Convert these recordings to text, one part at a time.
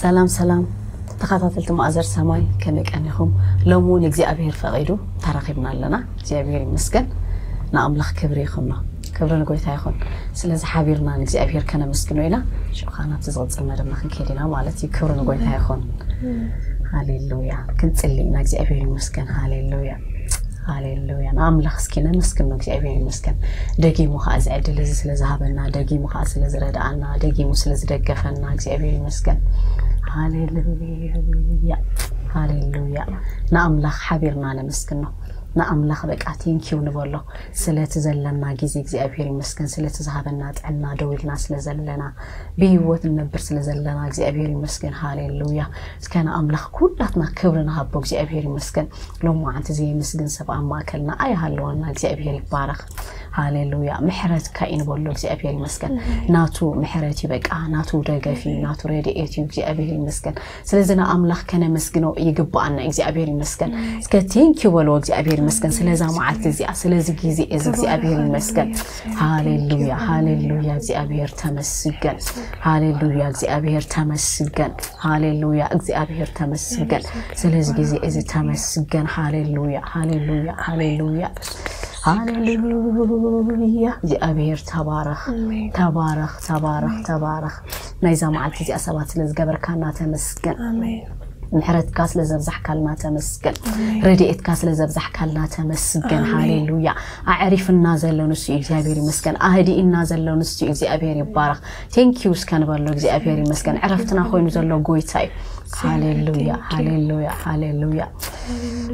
ሰላም ሰላም ተኸታተልቲ ማእዘር ሰማይ፣ ከመይ ቀኒኹም? ሎሚ እውን እግዚኣብሔር ፈቒዱ ተራኺብና ኣለና። እግዚኣብሔር ይመስገን። ንኣምላኽ ክብሪ ይኹኖ። ክብሪ ንጎይታ ይኹን። ስለዚ ሓቢርና ንእግዚኣብሔር ከነመስግኖ ኢና። ሽዑ ከዓ ናብቲ ዝቕጽል መደብና ክንከይድ ኢና ማለት እዩ። ክብሪ ንጎይታ ይኹን። ሃሌሉያ። ክንጽሊ ኢና። እግዚኣብሔር ይመስገን። ሃሌሉያ። ሃሌሉያ። ንኣምላኽ እስኪ ነመስግኖ። እግዚኣብሔር ይመስገን። ደጊሙ ከዓ እዚ ዕድል እዚ ስለ ዝሃበና፣ ደጊሙ ከዓ ስለ ዝረድኣና፣ ደጊሙ ስለ ዝደገፈና እግዚኣብሔር ይመስገን። ሃሌሉያ። ሃሌሉያ። ንኣምላኽ ሓቢርና ነመስግኖ። ንኣምላኽ በቃ ቴንኪው ንበሎ። ስለቲ ዘለና ግዜ እግዚኣብሔር ይመስገን። ስለቲ ዝሃበና ጥዕና፣ ደው ኢልና ስለ ዘለና፣ ብህይወት ንነብር ስለ ዘለና እግዚኣብሔር ይመስገን። ሃሌሉያ። እስከ ንኣምላኽ ኩላትና ክብሪ ንሃቦ። እግዚኣብሔር ይመስገን። ሎማዓንቲ ዘየመስግን ሰብ ኣብ ማእከልና ኣይሃለወና። እግዚኣብሔር ይባረኽ። ሃሌሉያ። ምሕረትካ እዩ ንበሎ። እግዚኣብሔር ይመስገን። ናቱ ምሕረት እዩ፣ በቃ ናቱ ደገፍ እዩ፣ ናቱ ረድኤት እዩ። እግዚኣብሔር ይመስገን። ስለዚ ንኣምላኽ ከነመስግኖ ይግብኣና። እግዚኣብሔር ይመስገን። እስከ ቴንኪዩ በልዎ። እግዚኣብሔር ይመስገን ስለዛ መዓልቲ እዚኣ፣ ስለዚ ግዜ እዚ እግዚኣብሔር ይመስገን። ሃሌሉያ፣ ሃሌሉያ። እግዚኣብሔር ተመስገን። ሃሌሉያ። እግዚኣብሔር ተመስገን። ሃሌሉያ። እግዚኣብሔር ተመስገን። ስለዚ ግዜ እዚ ተመስገን። ሃሌሉያ፣ ሃሌሉያ፣ ሃሌሉያ። ሃሌሉያ። እግዚኣብሔር ተባረኽ። ኣሜን። ተባረኽ፣ ተባረኽ፣ ተባረኽ። ናይዛ መዓልቲ እዚኣ ሰባት ስለ ዝገበርካና ተመስገን። ኣሜን። ምሕረትካ ስለ ዘብዛሕካልና ተመስገን። ኣሜን። ረድኤትካ ስለ ዘብዛሕካልና ተመስገን። ኣሜን። ሃሌሉያ። ኣዕሪፍና ዘሎ ንሱ እዩ፣ እግዚኣብሔር ይመስገን። ኣህዲእና ዘሎ ንሱ እዩ፣ እግዚኣብሔር ይባረኽ። ቴንኪዩ እስከ ንበሎ። እግዚኣብሔር ይመስገን። ዕረፍትና ኮይኑ ዘሎ ጎይታ እዩ። ሃሌሉያ፣ ሃሌሉያ፣ ሃሌሉያ።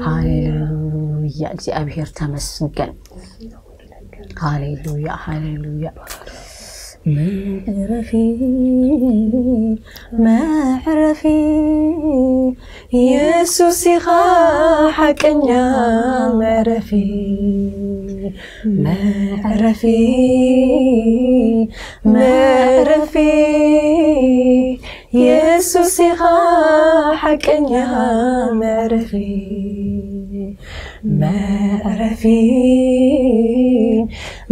ሃሌሉያ። እግዚኣብሔር ተመስገን። ሃሌሉያ፣ ሃሌሉያ። መዕረፊ፣ መዕረፊ፣ የሱስ ኢኻ ሓቀኛ መዕረፊ፣ መዕረፊ፣ መዕረፊ፣ የሱስ ኢኻ ሓቀኛ መዕረፊ፣ መዕረፊ፣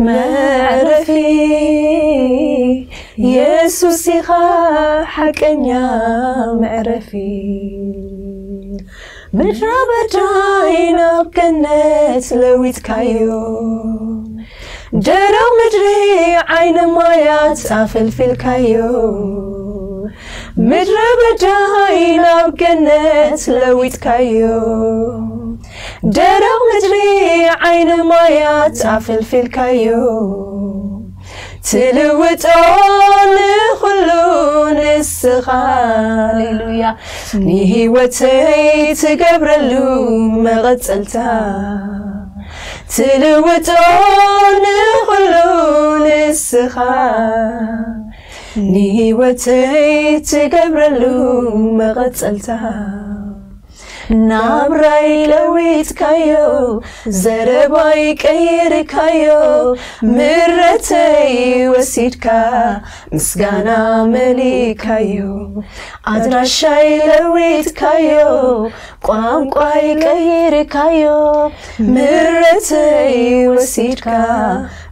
መዕረፊ፣ የሱስ ኢኻ ሓቀኛ መዕረፊ። ምድረ በዳይ ናብ ገነት ለዊጥካዮ፣ ደረቕ ምድሪ ዓይኒ ማያት ኣፈልፊልካዮ። ምድረ በዳይ ናብ ገነት ለዊጥካዮ፣ ደረቕ ምድሪ ዓይኒ ማያት ኣፈልፊልካዮ። ትልውጦ ንኹሉ ንስኻ፣ ሃሌሉያ። ንህይወተይ ትገብረሉ መቐጸልታ። ትልውጦ ንኹሉ ንስኻ፣ ንህይወተይ ትገብረሉ መቐጸልታ። ናብራይ ለዊጥካዮ፣ ዘረባይ ቀይርካዮ፣ ምረተይ ወሲድካ፣ ምስጋና መሊእካዮ። ኣድራሻይ ለዊጥካዮ፣ ቋንቋይ ቀይርካዮ፣ ምረተይ ወሲድካ፣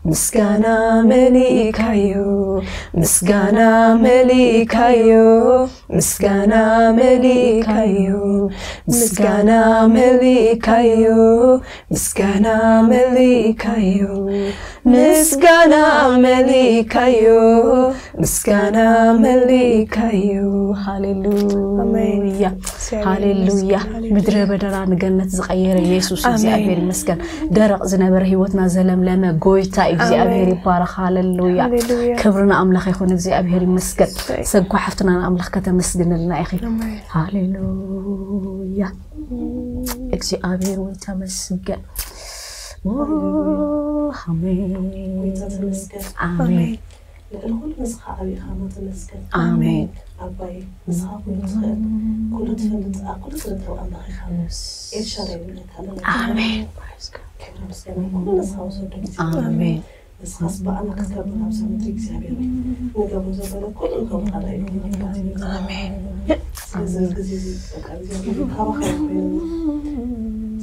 ምስጋና መሊእካዮ፣ ምስጋና መሊእካዮ፣ ምስጋና መሊእካዮ፣ ምስጋና መሊእካዮ፣ ምስጋና መሊእካዮ፣ ምስጋና መሊእካዮ፣ ምስጋና መሊእካዮ። ሃሌሉያ። ኣሜን። ሃሌሉያ። ምድረ በዳና ንገነት ዝቐየረ የሱስ ኣሜን። እግዚኣብሔር ይመስገን። ደረቕ ዝነበረ ህይወትና ዘለምለመ ጎይታ እግዚኣብሔር ኣሜን። ይባረኽ። ሃሌሉያ። ሃሌሉያ። ክብሪ ንኣምላኽ ይኹን። እግዚኣብሔር ይመስገን። ኣሜን። ሰጉ ሓፍትና ንኣምላኽ ከተመስግንልና ኢኺ። ኣሜን። ሃሌሉያ። እግዚኣብሔር ወይ ተመስገን። ኦ፣ ኣሜን። ጎይታ ተመስገን። ኣሜን። ኣሜን። ልዕሊ ኩሉ ንስኻ ዓብይ ኢኻ እሞ ተመስገን። ኣሜን። ኣባይ፣ ንስኻ ኩሉ ትኽእል፣ ኩሉ ትፈልጥ፣ ኣብ ኩሉ ትርከብ ኣምላኽ ኢኻ። የስ። ኤልሻዳይ ንብለካ ኣለና። ኣሜን። ክብሪ ምስጋና ኩሉ ንስኻ ውሰዶ። ኣሜን። ንስኻስ ብኣና ክትከብር ኣብዛ ምድሪ እግዚኣብሔር ወይ ንገብሮ ዘበለ ኩሉ ንገብሮ ኣላ ኢሉ ኣሜን። ስለዚ ግዜ እዚ በቃ እግዚኣብሔር ካባኻ ኮይኑ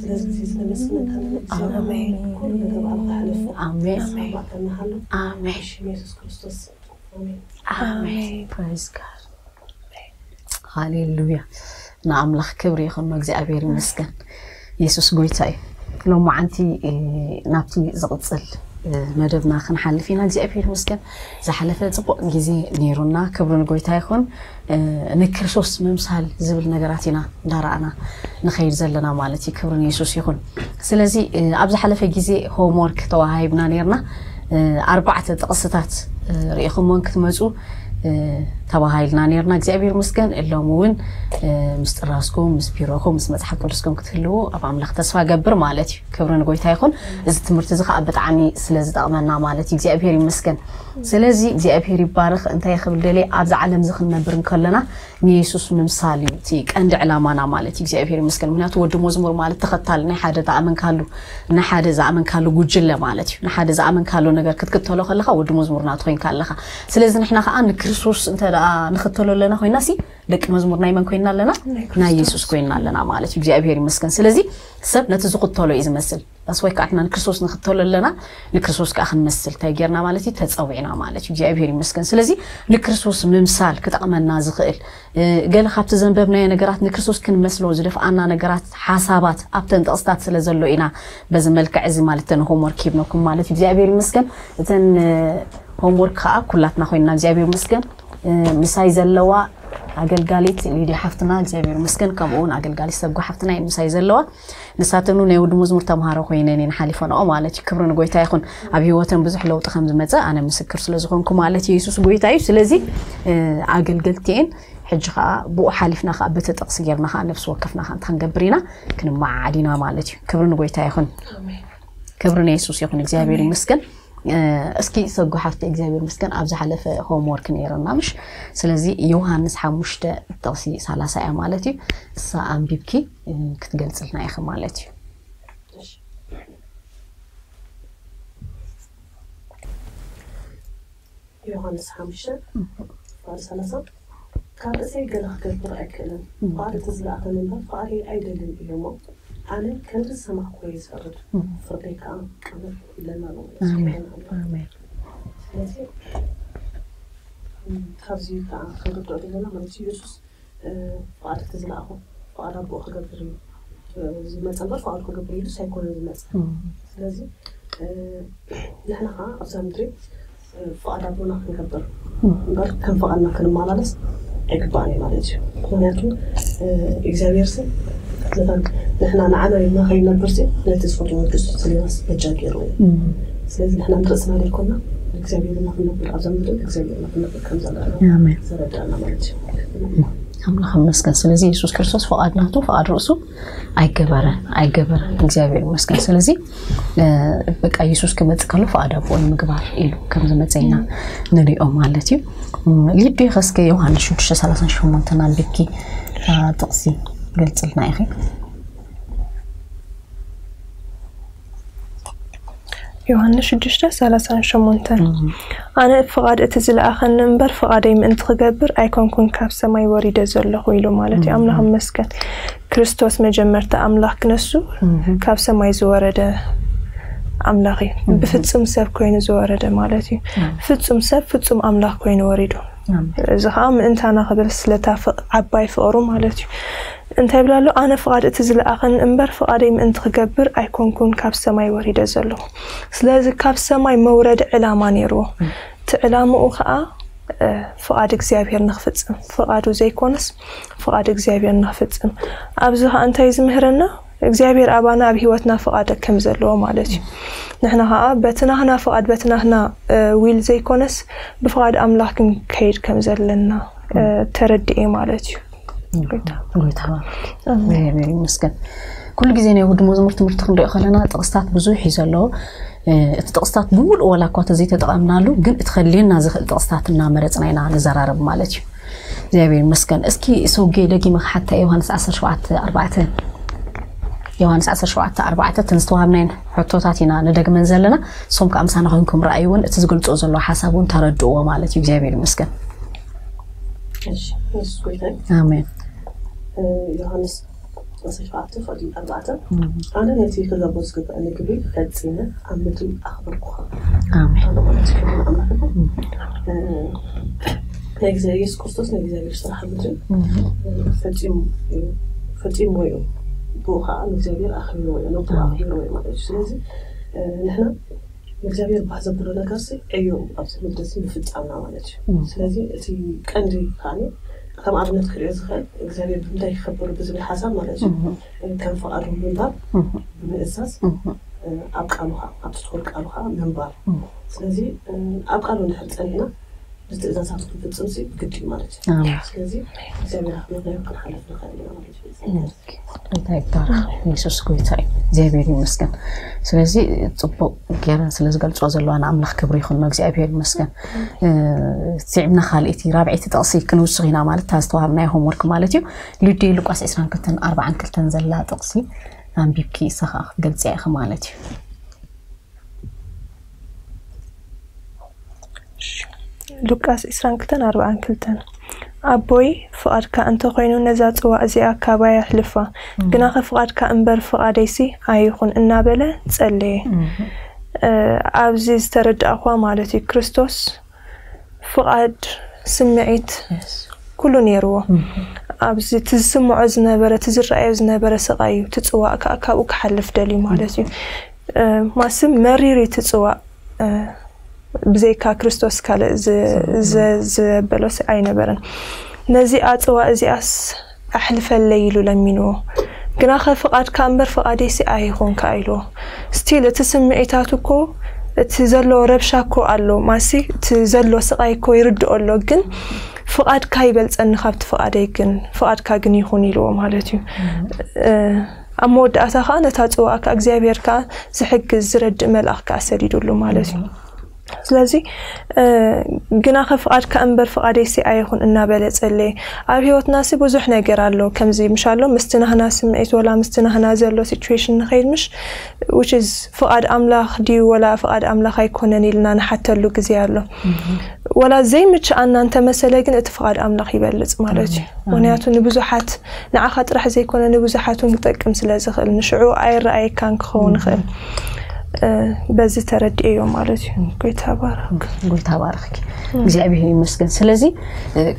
ስለዚ ግዜ እዚ ነመስግነካ ኣለና። እግዚኣብሔር ኣሜን። ኩሉ ነገር ብኣኻ ሕለፎ። ኣሜን። ኣብ ማእከልና ሃሎ። ኣሜን። ብሽም የሱስ ክርስቶስ ኣሜን። ኣሜን። ኣሜን። Praise God። ሃሌሉያ። ንኣምላኽ ክብሪ ይኹን፣ እግዚኣብሔር ይመስገን። የሱስ ጎይታ እዩ። ሎማዓንቲ ናብቲ ዝቕጽል መደብና ክንሓልፍ ኢና። እግዚኣብሔር ይመስገን፣ ዝሓለፈ ጽቡቕ ግዜ ነይሩና። ክብሪ ንጎይታ ይኹን። ንክርስቶስ ምምሳል ዝብል ነገራት ኢና እንዳረኣና ንኸይድ ዘለና ማለት እዩ። ክብሪ ንየሱስ ይኹን። ስለዚ ኣብ ዝሓለፈ ግዜ ሆምወርክ ተዋሃሂብና ነይርና። ኣርባዕተ ጥቕስታት ርኢኹሞን ክትመፁ ተባሃሂልና ነይርና። እግዚኣብሔር ይመስገን። እሎም እውን ምስ ጥራዝኩም፣ ምስ ቢሮኹም፣ ምስ መፅሓፍ ቅዱስኩም ክትህልዉ ኣብ ኣምላኽ ተስፋ ገብር ማለት እዩ። ክብሪ ንጎይታ ይኹን። እዚ ትምህርቲ እዚ ከዓ ብጣዕሚ ስለ ዝጠቕመና ማለት እዩ። እግዚኣብሔር ይመስገን። ስለዚ እግዚኣብሔር ይባረኽ። እንታይ ክብል ደልየ፣ ኣብዚ ዓለም እዚ ክንነብር እንከለና ንየሱስ ምምሳል እዩ እቲ ቀንዲ ዕላማና ማለት እዩ። እግዚኣብሔር ይመስገን። ምክንያቱ ወዲ መዝሙር ማለት ተኸታሊ ናይ ሓደ ዝኣመንካሉ፣ ናይ ሓደ ዝኣመንካሉ ጉጅለ ማለት እዩ። ንሓደ ዝኣመንካሉ ነገር ክትክተሎ ከለኻ ወዲ መዝሙር ናቱ ኮይንካ ኣለኻ። ስለዚ ንሕና ከዓ ንክርስቶስ እንተ ደኣ ንኽተሎ ኣለና ኮይና ሲ ደቂ መዝሙር ናይ መን ኮይና ኣለና? ናይ የሱስ ኮይና ኣለና ማለት እዩ። እግዚኣብሔር ይመስገን። ስለዚ ሰብ ነቲ ዝኽተሎ እዩ ዝመስል። ዳስ ወይ ከዓ ንሕና ንክርስቶስ ንኽተሎ ኣለና፣ ንክርስቶስ ከዓ ክንመስል እንታይ ጌርና ማለት እዩ? ተጸዊዕና ማለት እዩ። እግዚኣብሔር ይመስገን። ስለዚ ንክርስቶስ ምምሳል ክጠቕመና ዝኽእል ገለ ካብቲ ዘንበብናዮ ነገራት ንክርስቶስ ክንመስሎ ዝደፍኣና ነገራት፣ ሓሳባት ኣብተን ጥቕስታት ስለ ዘሎ ኢና በዚ መልክዕ እዚ ማለት እተን ሆምወርክ ሂብነኩም ማለት እዩ። እግዚኣብሔር ይመስገን። እተን ሆምወርክ ከዓ ኩላትና ኮይንና እግዚኣብሔር ይመስገን ምሳይ ዘለዋ ኣገልጋሊት ሊድያ ሓፍትና እግዚኣብሔር ይመስገን፣ ከምኡ እውን ኣገልጋሊት ሰጉ ሓፍትና እየን ምሳይ ዘለዋ። ንሳተን እውን ናይ ወዲ መዝሙር ተምሃሮ ኮይነን እየን ሓሊፈንኦ ማለት እዩ። ክብሪ ንጎይታ ይኹን። ኣብ ህይወተን ብዙሕ ለውጢ ከም ዝመፀ ኣነ ምስክር ስለ ዝኾንኩ ማለት እዩ። የሱስ ጎይታ እዩ። ስለዚ ኣገልገልቲ እየን። ሕጂ ከዓ ብኡ ሓሊፍና ከዓ በቲ ጥቕሲ ጌርና ከዓ ነፍሲ ወከፍና ከዓ እንታይ ክንገብር ኢና? ክንመዓዓድ ኢና ማለት እዩ። ክብሪ ንጎይታ ይኹን። ክብሪ ንየሱስ ይኹን። እግዚኣብሔር ይመስገን። እስኪ ሰጉ ሓፍቲ እግዚኣብሔር ይመስገን ኣብ ዝሓለፈ ሆምወርክ ነይረና ምሽ? ስለዚ ዮሃንስ ሓሙሽተ ጥቕሲ ሰላሳ እያ ማለት እዩ። እሳ ኣንቢብኪ ክትገልጽልና ኢኺ ማለት እዩ። ዮሃንስ ሓሙሽተ ፍቓድ ሰላሳ ካብ ርእሰይ ገለ ክገብር ኣይክእልን፣ ፍቓድ እቲ ዝለኣኸኒ እምበር ፍቓደይ ኣይደልን እዩ እሞ፣ ኣነ ከምቲ ዝሰማዕክዎ እየ ዝፈርድ፣ ፍርደይ ከኣ ቅኑዕ እዩ ኢለና ኣሎ። ኣሜን። ኣሜን። ስለዚ ካብዚ ከኣ ክንርድኦ ዘለና ማለት እዩ፣ የሱስ ፍቓድ እቲ ዝለኣኾ ፍቓድ ኣቦኡ ክገብር እዩ ዝመፀ እምበር ፍቓዱ ክገብር ኢሉስ ኣይኮነን ዝመፀ። ስለዚ ንሕና ከዓ ኣብዛ ምድሪ ፍቓድ ኣቦና ክንገብር እምበር ከም ፍቓድና ክንመላለስ ኣይግባእን እዩ ማለት እዩ። ምክንያቱ እግዚኣብሔር ሲ ነታን ንሕና ንዓና ኢልና ከይነብር ሲ ነቲ ዝፈትዎ ወዱ ስሊናስ በጃ ገይሩ እዩ። ስለዚ ንሕና ንርእስና ዘይኮና እግዚኣብሔር ኢና ክንነብር ኣብዛ ምድሪ እግዚኣብሔር ኢና ክንነብር ከም ዘለና ኣሜን። ዘረዳእና ማለት እዩ። ኣምላኽ ይመስገን። ስለዚ የሱስ ክርስቶስ ፍቓድ ናቱ ፍቓድ ርእሱ ኣይገበረን ኣይገበረን። እግዚኣብሔር ይመስገን። ስለዚ በቃ የሱስ ክመፅእ ከሎ ፍቓድ ኣቦኡ ንምግባር ኢሉ ከም ዝመፀ ኢና ንሪኦ ማለት እዩ። ሊዱ ከስከ ዮሃንስ ሽዱሽተ ሰላሳን ሸሞንተን ኣንቢብኪ ጥቕሲ ገልፅልና ኢኺ። ዮሃንስ ሽዱሽተ ሰላሳን ሸሞንተን ኣነ ፍቓድ እቲ ዝለኣኸኒ እምበር ፍቓደይ ምእንቲ ክገብር ኣይኮንኩን ካብ ሰማይ ወሪደ ዘለኹ ኢሉ ማለት እዩ። ኣምላኽ ይመስገን። ክርስቶስ መጀመርታ ኣምላኽ ክነሱ ካብ ሰማይ ዝወረደ ኣምላኽ እዩ። ብፍጹም ሰብ ኮይኑ ዝወረደ ማለት እዩ። ፍጹም ሰብ ፍጹም ኣምላኽ ኮይኑ ወሪዱ። እዚ ከዓ ምእንታና ክብል ስለታ ዓባይ ፍቕሩ ማለት እዩ። እንታይ ይብል ኣሎ? ኣነ ፍቓድ እቲ ዝለኣኸኒ እምበር ፍቓደይ ምእንቲ ክገብር ኣይኮንኩን ካብ ሰማይ ወሪደ ዘለኹ። ስለዚ ካብ ሰማይ መውረዲ ዕላማ ነይርዎ። እቲ ዕላምኡ ከዓ ፍቓድ እግዚኣብሔር ንክፍጽም፣ ፍቓዱ ዘይኮነስ ፍቓድ እግዚኣብሔር ንክፍጽም። ኣብዚ ከዓ እንታይ ዝምህረና? እግዚኣብሔር ኣባና ኣብ ህይወትና ፍቓድ ከም ዘለዎ ማለት እዩ። ንሕና ከዓ በቲ ናህና ፍቓድ በቲ ናህና ዊል ዘይኮነስ ብፍቓድ ኣምላኽ ክንከይድ ከም ዘለና ተረድኤ ማለት እዩ። ጎይታ ባርክ። እግዚኣብሔር ይመስገን። ኩሉ ግዜ ናይ ውድ መዝሙር ትምህርቲ ክንሪኦ ከለና ጥቕስታት ብዙሕ እዩ ዘለዎ። እቲ ጥቕስታት ብምሉእ ዋላ እኳ ተዘይተጠቐምናሉ ግን እቲ ከድልየና ዝኽእል ጥቕስታት እናመረፅና ኢና ንዘራረብ ማለት እዩ። እግዚኣብሔር ይመስገን። እስኪ ሰውጌ ደጊመ ክሓታ ዮሃንስ ዓሰርተ ሸውዓተ ኣርባዕተ ዮሃንስ ዓሰርተ ሸውዓተ ኣርባዕተ እተን ዝተዋሃብናየን ሕቶታት ኢና ንደግመን ዘለና። ንሶም ከዓ ምሳና ኮይንኩም ረኣይዎን እቲ ዝገልፅኦ ዘሎ ሓሳብ እውን ተረድእዎ ማለት እዩ። እግዚኣብሔር ይመስገን። እሺ፣ የሱስ ጎይታ እዩ። ኣሜን። ዮሃንስ ዓሰርተ ሸውዓተ ፍቕዲ ኣርባዕተ ኣነ ነቲ ክገብሮ ዝግብኣኒ ግብሪ ፈጺመ ኣብ ምድሪ ኣኽበርኩኻ። ኣሜን። ኣነ ማለት ክብሪ ንኣምላኽ ይኹን። ናይ እግዚኣብሔር የሱስ ክርስቶስ ናይ እግዚኣብሔር ስራሕ ምድሪ ፈፂሙ እዩ። ፈፂምዎ እዩ። ብኡ ከዓ ንእግዚኣብሔር ኣኽቢርዎ እዩ፣ ነብኡ ኣኽቢርዎ እዩ ማለት እዩ። ስለዚ ንሕና ንእግዚኣብሔር ባህ ዘብሎ ነገር ሲ ዕዮ ኣብዚ ምድሪ ሲ ምፍፃምና ማለት እዩ። ስለዚ እቲ ቀንዲ ከዓ ከም ኣብነት ክሪኦ ዝኽእል እግዚኣብሔር ብምንታይ ክኸብር ብዝብል ሓሳብ ማለት እዩ። ከም ፍቓዱ ምንባር ብምእዛዝ ኣብ ቃሉ ከዓ ኣብቲ ትኹር ቃሉ ከዓ ምንባር። ስለዚ ኣብ ቃሉ እንድሕር ፀኒዕና ብትእዛዛቱ ክንፍፅም ሲ ግድ እዩ ማለት እዩ። ስለዚ እግዚኣብሔር ኣኽቢርናዮ ክንሓልፍ ንኽእል ኢና ማለት እዩ። እንታይ ይባረክ የሱስ ጎይታ እዩ። እግዚኣብሔር ይመስገን። ስለዚ ፅቡቅ ገይረን ስለ ዝገልፅኦ ዘለዋ ንኣምላኽ ክብሪ ይኹን። እግዚኣብሔር ይመስገን። ስዒብና ካልእቲ ራብዐይቲ ጥቕሲ ክንውስኽ ኢና ማለት እታ ዝተዋሃብናዮ ሆምወርክ ማለት እዩ። ሉዲ ሉቃስ ዕስራን ክልተን ኣርባዓን ክልተን ዘላ ጥቕሲ ኣንቢብኪ እሳ ከዓ ክትገልፅያ ኢኺ ማለት እዩ። ሉቃስ ዕስራን ክልተን ኣርባዓን ክልተን ኣቦይ ፍቓድካ እንተኾይኑ ነዛ ጽዋ እዚኣ ካባይ ኣሕልፋ፣ ግናኸ ፍቓድካ እምበር ፍቓደይሲ ኣይኹን እናበለ ጸለየ። ኣብዚ ዝተረዳእኳ ማለት እዩ ክርስቶስ ፍቓድ ስምዒት ኩሉ ነይርዎ። ኣብዚ እቲ ዝስምዖ ዝነበረ እቲ ዝረኣዮ ዝነበረ ስቓይ እዩ። እቲ ጽዋእ ከዓ ካብኡ ክሓልፍ ደልዩ ማለት እዩ። ማስም መሪር እዩ እቲ ጽዋእ። ብዘይካ ክርስቶስ ካልእ ዘበሎ ኣይነበረን። ነዚኣ ጽዋ እዚኣስ ኣሕልፈለይ ኢሉ ለሚንዎ። ግናኸ ፍቓድካ እምበር ፍቓደይሲ ኣይኹንካ ኢልዎ። ስቲል እቲ ስምዒታት እኮ እቲ ዘሎ ረብሻ እኮ ኣሎ ማሲ እቲ ዘሎ ስቓይ እኮ ይርድኦ ኣሎ ግን ፍቓድካ ይበልጸኒ ካብቲ ፍቓደይ ግን ፍቓድካ ግን ይኹን ኢልዎ ማለት እዩ። ኣብ መወዳእታ ከዓ ነታ ጽዋእ ከዓ እግዚኣብሔር ከዓ ዝሕግዝ ዝረድእ መልኣኽ ከዓ ሰዲዱሉ ማለት እዩ። ስለዚ ግናኸ ፍቓድካ እምበር ፍቓደይሲ ኣይኹን እናበለ ጸለየ። ኣብ ህይወትና ሲ ብዙሕ ነገር ኣሎ ከምዚ ምሻሎ ምስቲ ናህና ስምዒት ወላ ምስቲ ናህና ዘሎ ሲቹዌሽን ንኸይድ ምሽ which is ፍቓድ ኣምላኽ ድዩ ወላ ፍቓድ ኣምላኽ ኣይኮነን ኢልና ንሓተሉ ግዜ ኣሎ። ወላ ዘይምችኣና እንተመሰለ ግን እቲ ፍቓድ ኣምላኽ ይበልጽ ማለት እዩ። ምክንያቱ ንብዙሓት ንዓኻ ጥራሕ ዘይኮነ ንብዙሓት እውን ክጠቅም ስለ ዝኽእል ንሽዑ ኣይረኣየካን ክኸውን ይኽእል። በዚ ተረዲኤዮ ማለት እዩ። ጎይታ ባረክ። ጎይታ ባረክ። እግዚኣብሔር ይመስገን። ስለዚ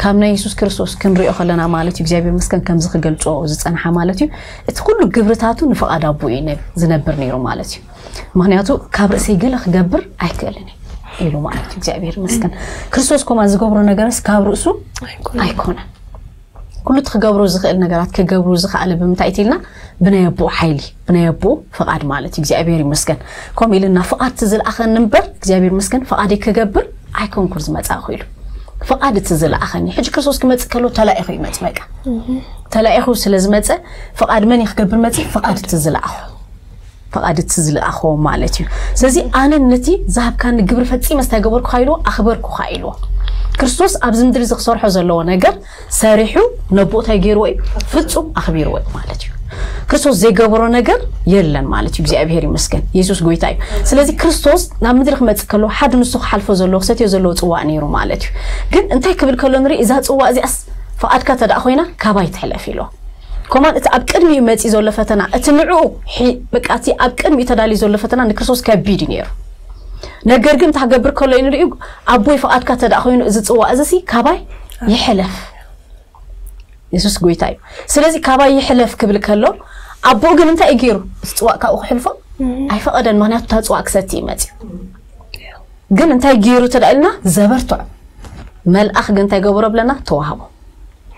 ካብ ናይ የሱስ ክርስቶስ ክንሪኦ ከለና ማለት እዩ እግዚኣብሔር ይመስገን ከምዚ ክገልጾ ዝጸንሓ ማለት እዩ እቲ ኩሉ ግብርታቱ ንፍቓድ ኣቦ እዩ ዝነብር ነይሩ ማለት እዩ። ምክንያቱ ካብ ርእሰይ ገለ ክገብር ኣይክእልን ኢሉ ማለት እዩ እግዚኣብሔር ይመስገን። ክርስቶስ ኮማ ዝገብሮ ነገርስ ካብ ርእሱ ኣይኮነን። ኩሉ እቲ ክገብሮ ዝኽእል ነገራት ክገብሩ ዝኽኣለ ብምንታይ ኢልና ብናይ ኣቦኡ ሓይሊ ብናይ ኣቦኡ ፍቓድ ማለት እዩ እግዚኣብሔር ይመስገን። ከምኡ ኢልና ፍቓድ እቲ ዝለኣኸኒ እምበር እግዚኣብሔር ይመስገን ፍቓደይ ክገብር ኣይኮንኩን ዝመጻእኹ ኢሉ። ፍቓድ እቲ ዝለኣኸኒ ሕጂ ክርስቶስ ክመጽእ ከሎ ተላኢኹ ይመጽእ በቃ። ተላኢኹ ስለ ዝመጸ ፍቓድ መን እዩ ክገብር መጺእ ፍቓድ እቲ ዝለኣኹ ፍቓድ እቲ ዝለኣኾ ማለት እዩ። ስለዚ ኣነ ነቲ ዝሃብካኒ ግብሪ ፈጺመ እንታይ ገበርኩኻ ኢልዎ ኣኽበርኩኻ ኢልዎ። ክርስቶስ ኣብዚ ምድሪ እዚ ክሰርሖ ዘለዎ ነገር ሰሪሑ ነቦኡ እንታይ ገይርዎ እዩ ፍጹም ኣኽቢርዎ እዩ ማለት እዩ። ክርስቶስ ዘይገበሮ ነገር የለን ማለት እዩ። እግዚኣብሔር ይመስገን። የሱስ ጎይታ እዩ። ስለዚ ክርስቶስ ናብ ምድሪ ክመጽእ ከለዎ ሓደ ንሱ ክሓልፎ ዘለዎ ክሰትዮ ዘለዎ ጽዋእ ነይሩ ማለት እዩ። ግን እንታይ ክብል ከሎ ንርኢ እዛ ጽዋእ እዚኣስ ፍቓድካ ተደኣ ኮይና ካባይ ትሕለፍ ኢልዎ። ኮማን እቲ ኣብ ቅድሚኡ መጺ ዘሎ ፈተና እቲ ንዕኡ በቃ እቲ ኣብ ቅድሚኡ ተዳልዩ ዘሎ ፈተና ንክርስቶስ ከቢድ እዩ ነይሩ። ነገር ግን እንታይ ክገብር ከሎ እዩ ንሪኡ ኣቦይ ፍቓድካ ተደኣ ኮይኑ እዚ ጽዋ እዚ ሲ ካባይ ይሕለፍ። የሱስ ጎይታ እዩ። ስለዚ ካባይ ይሕለፍ ክብል ከሎ ኣቦኡ ግን እንታይ እዩ ገይሩ? እዚ ጽዋእ ካብኡ ክሕልፎ ኣይፈቐደን። ምክንያቱ እታ ጽዋእ ክሰቲ እዩ መጺኡ። ግን እንታይ ገይሩ ተዳኢልና ዘበርትዖ መልኣኽ ግን እንታይ ገብሮ ብለና ተዋህቦ።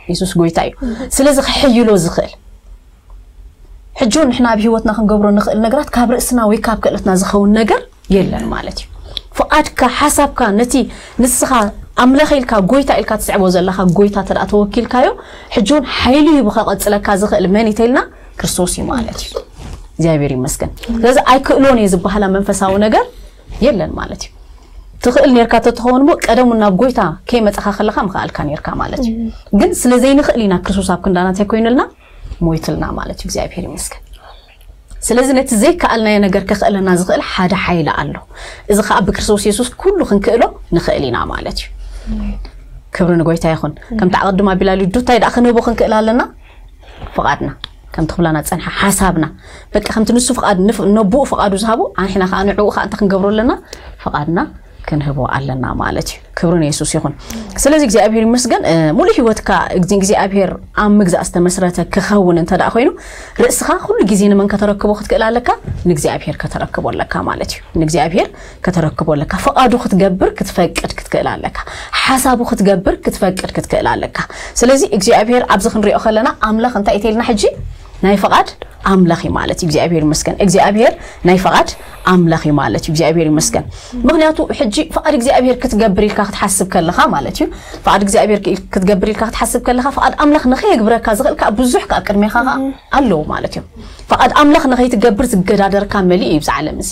የሱስ ጎይታ እዩ። ስለዚ ክሕይሎ ዝኽእል ሕጂ ንሕና ኣብ ህይወትና ክንገብሮ ንኽእል ነገራት ካብ ርእስና ወይ ካብ ክእለትና ዝኸውን ነገር የለን ማለት እዩ። ፍቓድካ ሓሳብካ ነቲ ንስኻ ኣምላኽ ኢልካ ጎይታ ኢልካ ትስዕቦ ዘለኻ ጎይታ ተደኣ ተወኪልካዮ ሕጂ እውን ሓይሊ ሂቡ ከቐጽለካ ዝኽእል መን ኢተልና ክርስቶስ እዩ ማለት እዩ። እግዚኣብሔር ይመስገን። ስለዚ ኣይክእሎን እየ ዝበሃላ መንፈሳዊ ነገር የለን ማለት እዩ። ትኽእል ነርካ ተትኸውን ሞ ቀደሙ ናብ ጎይታ ከይመፀኻ ከለኻ ምኽኣልካ ነርካ ማለት እዩ። ግን ስለ ዘይንኽእል ኢና ክርስቶስ ኣብ ክንዳና እንታይ ኮይኑልና ሞይትልና ማለት እዩ። እግዚኣብሔር ይመስገን። ስለዚ ነቲ ዘይከኣልናዮ ነገር ከኽእለና ዝኽእል ሓደ ሓይሊ ኣሎ። እዚ ከዓ ብክርስቶስ የሱስ ኩሉ ክንክእሎ ንኽእል ኢና ማለት እዩ። ክብሪ ንጎይታ ይኹን። ከምቲ ኣቐድም ኣቢላ ልዱ እንታይ ደኣ ክንህቦ ክንክእል ኣለና? ፍቓድና ከምቲ ክብላና ዝጸንሐ ሓሳብና በቃ ከምቲ ንሱ ፍቓድ ነብኡ ፍቓዱ ዝሃቦ ኣንሕና ከዓ ንዕኡ ከዓ እንታይ ክንገብሮ ኣለና? ፍቓድና ክንህቦ ኣለና ማለት እዩ። ክብሪ ንየሱስ ይኹን። ስለዚ እግዚኣብሔር ይመስገን። እ፣ ሙሉእ ህይወትካ እግዚኣብሔር ኣብ ምግዛእ ዝተመስረተ ክኸውን እንተ ደኣ ኮይኑ፣ ርእስኻ ኩሉ ግዜ ንመን ከተረክቦ ክትክእል ኣለካ? ንእግዚኣብሔር ከተረክቦ ኣለካ ማለት እዩ። ንእግዚኣብሔር ከተረክቦ ኣለካ። ፍቓዱ ክትገብር ክትፈቅድ ክትክእል ኣለካ። ሓሳቡ ክትገብር ክትፈቅድ ክትክእል ኣለካ። ስለዚ እግዚኣብሔር ኣብዚ ክንሪኦ ከለና ኣምላኽ እንታይ ኢልና ሕጂ ናይ ፍቓድ ኣምላኽ እዩ ማለት እዩ። እግዚኣብሔር ይመስገን። እግዚኣብሔር ናይ ፍቓድ ኣምላኽ እዩ ማለት እዩ። እግዚኣብሔር ይመስገን። ምኽንያቱ ሕጂ ፍቓድ እግዚኣብሔር ክትገብር ኢልካ ክትሓስብ ከለኻ ማለት እዩ። ፍቓድ እግዚኣብሔር ክትገብር ኢልካ ክትሓስብ ከለኻ ፍቓድ ኣምላኽ ንኸየግብረካ ዝኽእል ከዓ ብዙሕ ከዓ ቅድሜኻ ከዓ ኣለዎ ማለት እዩ። ፍቓድ ኣምላኽ ንኸይትገብር ዝገዳደርካ መሊኡ እዩ ብዛ ዓለም እዚ።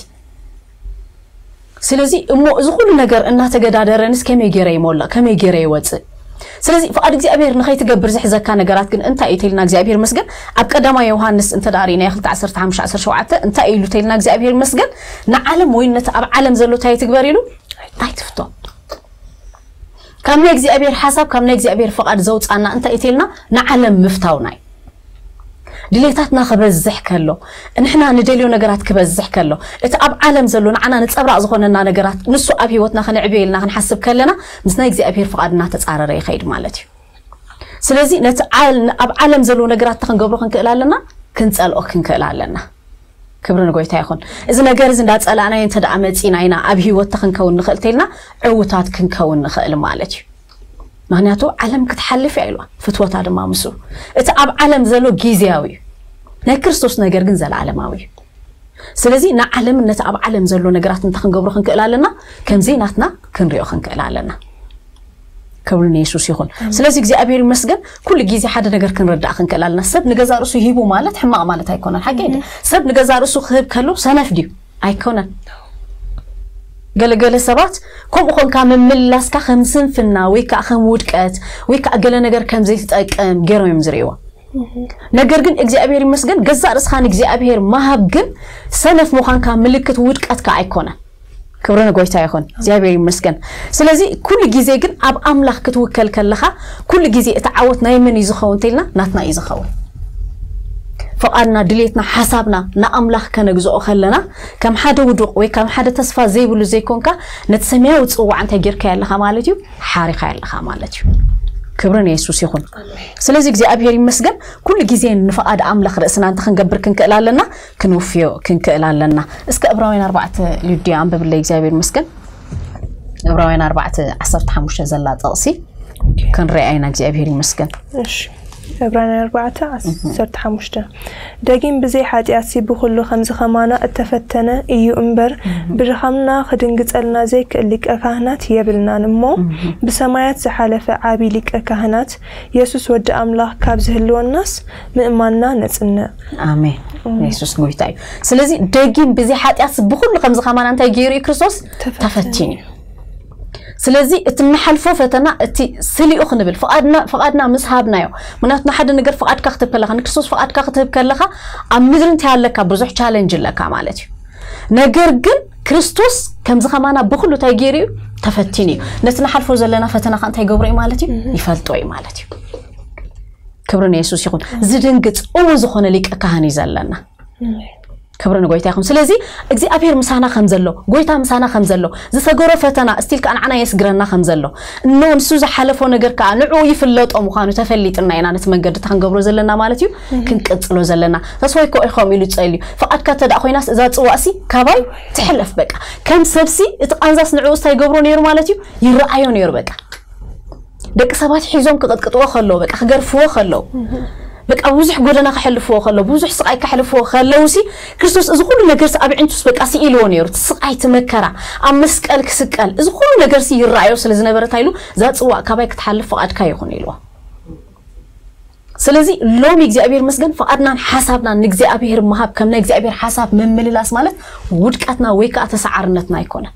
ስለዚ እሞ እዚ ኩሉ ነገር እናተገዳደረንስ ከመይ ገይረ ይሞልእ? ከመይ ገይረ ይወፅእ? ስለዚ ፍቓድ እግዚኣብሔር ንኸይትገብር ዝሕዘካ ነገራት ግን እንታይ እዩ ተልና እግዚኣብሔር መስገን? ኣብ ቀዳማይ ዮሃንስ እንተ ደኣ ርኢና ክልተ ዓሰርተ ሓሙሽተ ዓሰርተ ሸውዓተ እንታይ እዩ ኢሉ ተልና እግዚኣብሔር መስገን? ንዓለም ወይ ነቲ ኣብ ዓለም ዘሎ እንታይ ትግበር ኢሉ? ኣይትፍቶ። ካብ ናይ እግዚኣብሔር ሓሳብ ካብ ናይ እግዚኣብሔር ፍቓድ ዘውፃና እንታይ እዩ ተልና ንዓለም ምፍታውና እዩ። ድሌታትና ክበዝሕ ከሎ፣ ንሕና ንደልዮ ነገራት ክበዝሕ ከሎ፣ እቲ ኣብ ዓለም ዘሎ ንዓና ንጸብራቕ ዝኾነና ነገራት ንሱ ኣብ ህይወትና ክንዕብየልና ክንሓስብ ከለና ምስ ናይ እግዚኣብሔር ፍቓድ እናተጻረረ ይኸይድ ማለት እዩ። ስለዚ ነቲ ዓል-፣ ኣብ ዓለም ዘሎ ነገራት ክንገብሮ ክንክእል ኣለና፣ ክንጸልኦ ክንክእል ኣለና። ክብሪ ንጎይታ ይኹን። እዚ ነገር እዚ እንዳጸላእናዮ እንተ ደኣ መጺና ኢና ኣብ ህይወት ክንከውን ንኽእል ተልና ዕውታት ክንከውን ንኽእል ማለት እዩ። ምኽንያቱ ዓለም ክትሓልፍ እያ ኢልዋ፣ ፍትወታ ድማ ምስኡ። እቲ ኣብ ዓለም ዘሎ ግዜያዊ እዩ፣ ናይ ክርስቶስ ነገር ግን ዘለኣለማዊ እዩ። ስለዚ ንዓለም ነቲ ኣብ ዓለም ዘሎ ነገራት እንታይ ክንገብሮ ክንክእል ኣለና? ከምዘይ ናትና ክንሪኦ ክንክእል ኣለና። ክብሪ ንየሱስ ይኹን። ስለዚ እግዚኣብሔር ይመስገን ኩሉ ግዜ ሓደ ነገር ክንርዳእ ክንክእል ኣለና። ሰብ ንገዛ ርእሱ ሂቡ ማለት ሕማቕ ማለት ኣይኮነን። ሓቂ እዩ። ሰብ ንገዛ ርእሱ ክህብ ከሎ ሰነፍ ድዩ? ኣይኮነን። ገለገለ ሰባት ከምኡ ኾንካ ምምላስካ ከም ስንፍና ወይ ከዓ ከም ውድቀት ወይ ከዓ ገለ ነገር ከም ዘይትጠቅም ገይሮም እዮም ዝርእይዎ። ነገር ግን እግዚኣብሔር ይመስገን ገዛእ ርእስኻ ንእግዚኣብሔር ምሃብ ግን ሰነፍ ምዃንካ ምልክት ውድቀትካ ኣይኮነን። ክብሪ ንጎይታ ይኹን። እግዚኣብሔር ይመስገን። ስለዚ ኩሉ ግዜ ግን ኣብ ኣምላኽ ክትውከል ከለኻ ኩሉ ግዜ እቲ ዓወት ናይ መን እዩ ዝኸውን ተልና ናትና እዩ ዝኸውን። ፍቓድና፣ ድሌትና፣ ሓሳብና ንኣምላኽ ከነግዝኦ ከለና ከም ሓደ ውዱቕ ወይ ከም ሓደ ተስፋ ዘይብሉ ዘይኮንካ ነቲ ሰማያዊ ጽዋዕ እንታይ ጌርካዮ ኣለኻ ማለት እዩ? ሓሪኻዮ ኣለኻ ማለት እዩ። ክብሪ ንየሱስ ይኹን። ስለዚ እግዚኣብሔር ይመስገን ኩሉ ግዜ ንፍቓድ ኣምላኽ ርእስና እንተ ክንገብር ክንክእል ኣለና፣ ክንውፍዮ ክንክእል ኣለና። እስከ ዕብራውያን ኣርባዕተ ሉድያ ኣንብብለይ። እግዚኣብሔር ይመስገን። ዕብራውያን ኣርባዕተ ዓሰርተ ሓሙሽተ ዘላ ጥቕሲ ክንሪኣ ኢና። እግዚኣብሔር ይመስገን። እሺ፣ ዕብራውያን ኣርባዕተ ዓሰርተ ሓሙሽተ ደጊም ብዘይ ሓጢኣትሲ ብኹሉ ከምዚ ኸማና እተፈተነ እዩ እምበር፣ ብድኻምና ክድንግጸልና ዘይክእል ሊቀ ካህናት የብልናን እሞ፣ ብሰማያት ዝሓለፈ ዓቢ ሊቀ ካህናት የሱስ ወዲ ኣምላኽ ካብ ዝህልወናስ ምእማንና ነጽንዕ። ኣሜን። የሱስ ጎይታ እዩ። ስለዚ ደጊም ብዘይ ሓጢኣትሲ ብኹሉ ከምዚ ኸማና እንታይ ገይሩ እዩ ክርስቶስ? ተፈቲኑ እዩ። ስለዚ እቲ እንሓልፎ ፈተና እቲ ስሊኡ ክንብል ፍቓድና ፍቓድና ምስ ሃብናዮ። ምክንያቱ ንሓደ ነገር ፍቓድካ ክትህብ ከለኻ ንክርስቶስ ፍቓድካ ክትህብ ከለኻ ኣብ ምድሪ እንታይ ኣለካ? ብዙሕ ቻለንጅ ኣለካ ማለት እዩ። ነገር ግን ክርስቶስ ከምዚ ኸማና ብኹሉ እንታይ ገይሩ እዩ? ተፈቲኑ እዩ። ነቲ ንሓልፎ ዘለና ፈተና ኸ እንታይ ገብሮ እዩ ማለት እዩ? ይፈልጦ እዩ ማለት እዩ። ክብሪ ንየሱስ ይኹን። ዝድንግጽ እሙን ዝኾነ ሊቀ ካህን እዩ ዘለና። ክብሪ ንጎይታ ይኹን። ስለዚ እግዚኣብሔር ምሳና ከም ዘሎ፣ ጎይታ ምሳና ከም ዘሎ፣ ዝሰገሮ ፈተና ስቲል ከዓ ንዓና የስግረና ከም ዘሎ፣ እኖ ንሱ ዝሓለፎ ነገር ከዓ ንዕኡ ይፍለጦ ምዃኑ ተፈሊጥና ኢና ነቲ መንገዲ እታ ክንገብሮ ዘለና ማለት እዩ ክንቅጽሎ ዘለና። ተስፋይ እኮ እዩ ከምኡ ኢሉ ጸልዩ። ፍቓድካ እንተ ደኣ ኮይናስ እዛ ጽዋእሲ ካባይ ትሕለፍ በቃ። ከም ሰብሲ እቲ ቃንዛስ ንዕኡ እንታይ ይገብሮ ነይሩ ማለት እዩ? ይረኣዮ ነይሩ በቃ። ደቂ ሰባት ሒዞም ክቕጥቅጥዎ ከለዉ በቃ ክገርፍዎ ከለዉ በቃ ብዙሕ ጎደና ከሕልፍዎ ከለዉ ብዙሕ ስቓይ ከሕልፍዎ ከለዉ ሲ ክርስቶስ እዚ ኩሉ ነገር ሲ ኣብ ዕንቱስ በቃ ስኢልዎ ነይሩ። እቲ ስቓይ እቲ መከራ ኣብ መስቀል ክስቀል እዚ ኩሉ ነገር ሲ ይረኣዮ ስለ ዝነበረ እንታይ ኢሉ እዛ ጽዋእ ካባይ ክትሓልፍ ፍቓድካ ይኹን ኢልዎ። ስለዚ ሎሚ እግዚኣብሔር መስገን ፍቓድናን ሓሳብናን ንእግዚኣብሔር ምሃብ ከም ናይ እግዚኣብሔር ሓሳብ ምምልላስ ማለት ውድቀትና ወይ ከዓ ተሰዓርነትና ኣይኮነን።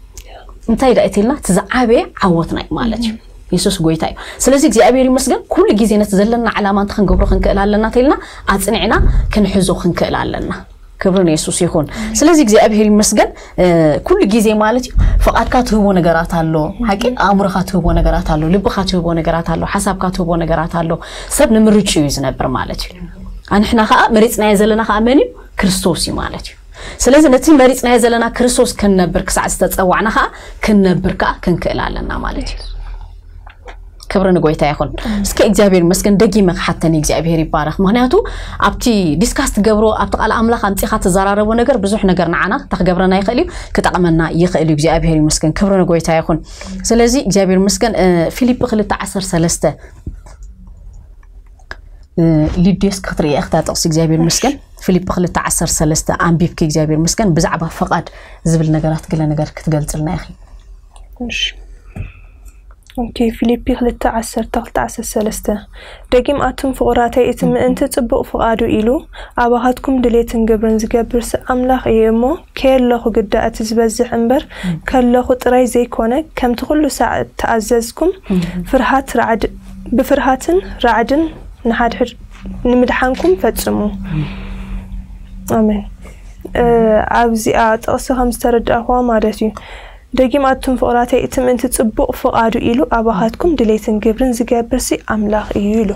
እንታይ ዳ እትልና እቲ ዝዓበየ ዓወትና እዩ ማለት እዩ። የሱስ ጎይታ እዩ። ስለዚ እግዚኣብሔር ይመስገን ኩሉ ግዜ ነቲ ዘለና ዕላማ እንተ ክንገብሮ ክንክእል ኣለና ተልና ኣጽኒዕና ክንሕዞ ክንክእል ኣለና። ክብሪ ንየሱስ ይኹን። ስለዚ እግዚኣብሔር ይመስገን ኩሉ ግዜ ማለት እዩ ፍቓድካ ትህቦ ነገራት ኣሎ። ሓቂ ኣእምሮኻ ትህቦ ነገራት ኣሎ፣ ልብኻ ትህቦ ነገራት ኣሎ፣ ሓሳብካ ትህቦ ነገራት ኣሎ። ሰብ ንምርጭ እዩ ዝነብር ማለት እዩ። ኣንሕና ከዓ መሪፅናዮ ዘለና ከዓ መን እዩ? ክርስቶስ እዩ ማለት እዩ። ስለዚ ነቲ መሪጽናዮ ዘለና ክርስቶስ ክንነብር ክሳዕ ዝተጸዋዕና ከኣ ክንነብር ከኣ ክንክእል ኣለና ማለት እዩ። ክብሪ ንጎይታ ይኹን። እስከ እግዚኣብሔር ይመስገን፣ ደጊመ ክሓተኒ እግዚኣብሔር ይባረኽ። ምክንያቱ ኣብቲ ዲስካስ ትገብሮ፣ ኣብቲ ቃል ኣምላኽ ኣምጺኻ ትዘራረቦ ነገር ብዙሕ ነገር ንዓና ክገብረና ይኽእል እዩ፣ ክጠቕመና ይኽእል እዩ። እግዚኣብሔር ይመስገን፣ ክብሪ ንጎይታ ይኹን። ስለዚ እግዚኣብሔር ይመስገን። ፊልጲ ክልተ ዓሰርተ ሰለስተ፣ ሊድዮስ ክትርኢ እያ እታ ጥቕሲ። እግዚኣብሔር ይመስገን። ፊልጲ ክልተ ዓሰርተ ሰለስተ ኣንቢብኪ እግዚኣብሔር ይመስገን፣ ብዛዕባ ፍቓድ ዝብል ነገራት ገለ ነገር ክትገልጽልና ኢኺ። ኦኬ፣ ፊልጲ ክልተ ዓሰርተ ክልተ ዓሰርተ ሰለስተ፣ ደጊም ኣቱም ፍቑራተይ፣ እቲ ምእንቲ ጽቡቕ ፍቓዱ ኢሉ ኣባኻትኩም ድሌትን ግብርን ዝገብርሲ ኣምላኽ እዩ እሞ፣ ከየለኹ ግዳ እቲ ዝበዝሕ እምበር፣ ከለኹ ጥራይ ዘይኮነ፣ ከምቲ ኩሉ ሳዕ እተኣዘዝኩም፣ ፍርሃት ራዕድ ብፍርሃትን ራዕድን ንሓድሕድ ንምድሓንኩም ፈጽሙ። ኣሜን። ኣብዚኣ ጥቕሲ ከም ዝተረዳእኹዋ ማለት እዩ። ደጊም ኣቱም ፍቑራተይ፣ እቲ ምእንቲ ጽቡቕ ፍቓዱ ኢሉ ኣባኻትኩም ድሌትን ግብርን ዝገብርሲ ኣምላኽ እዩ ኢሉ።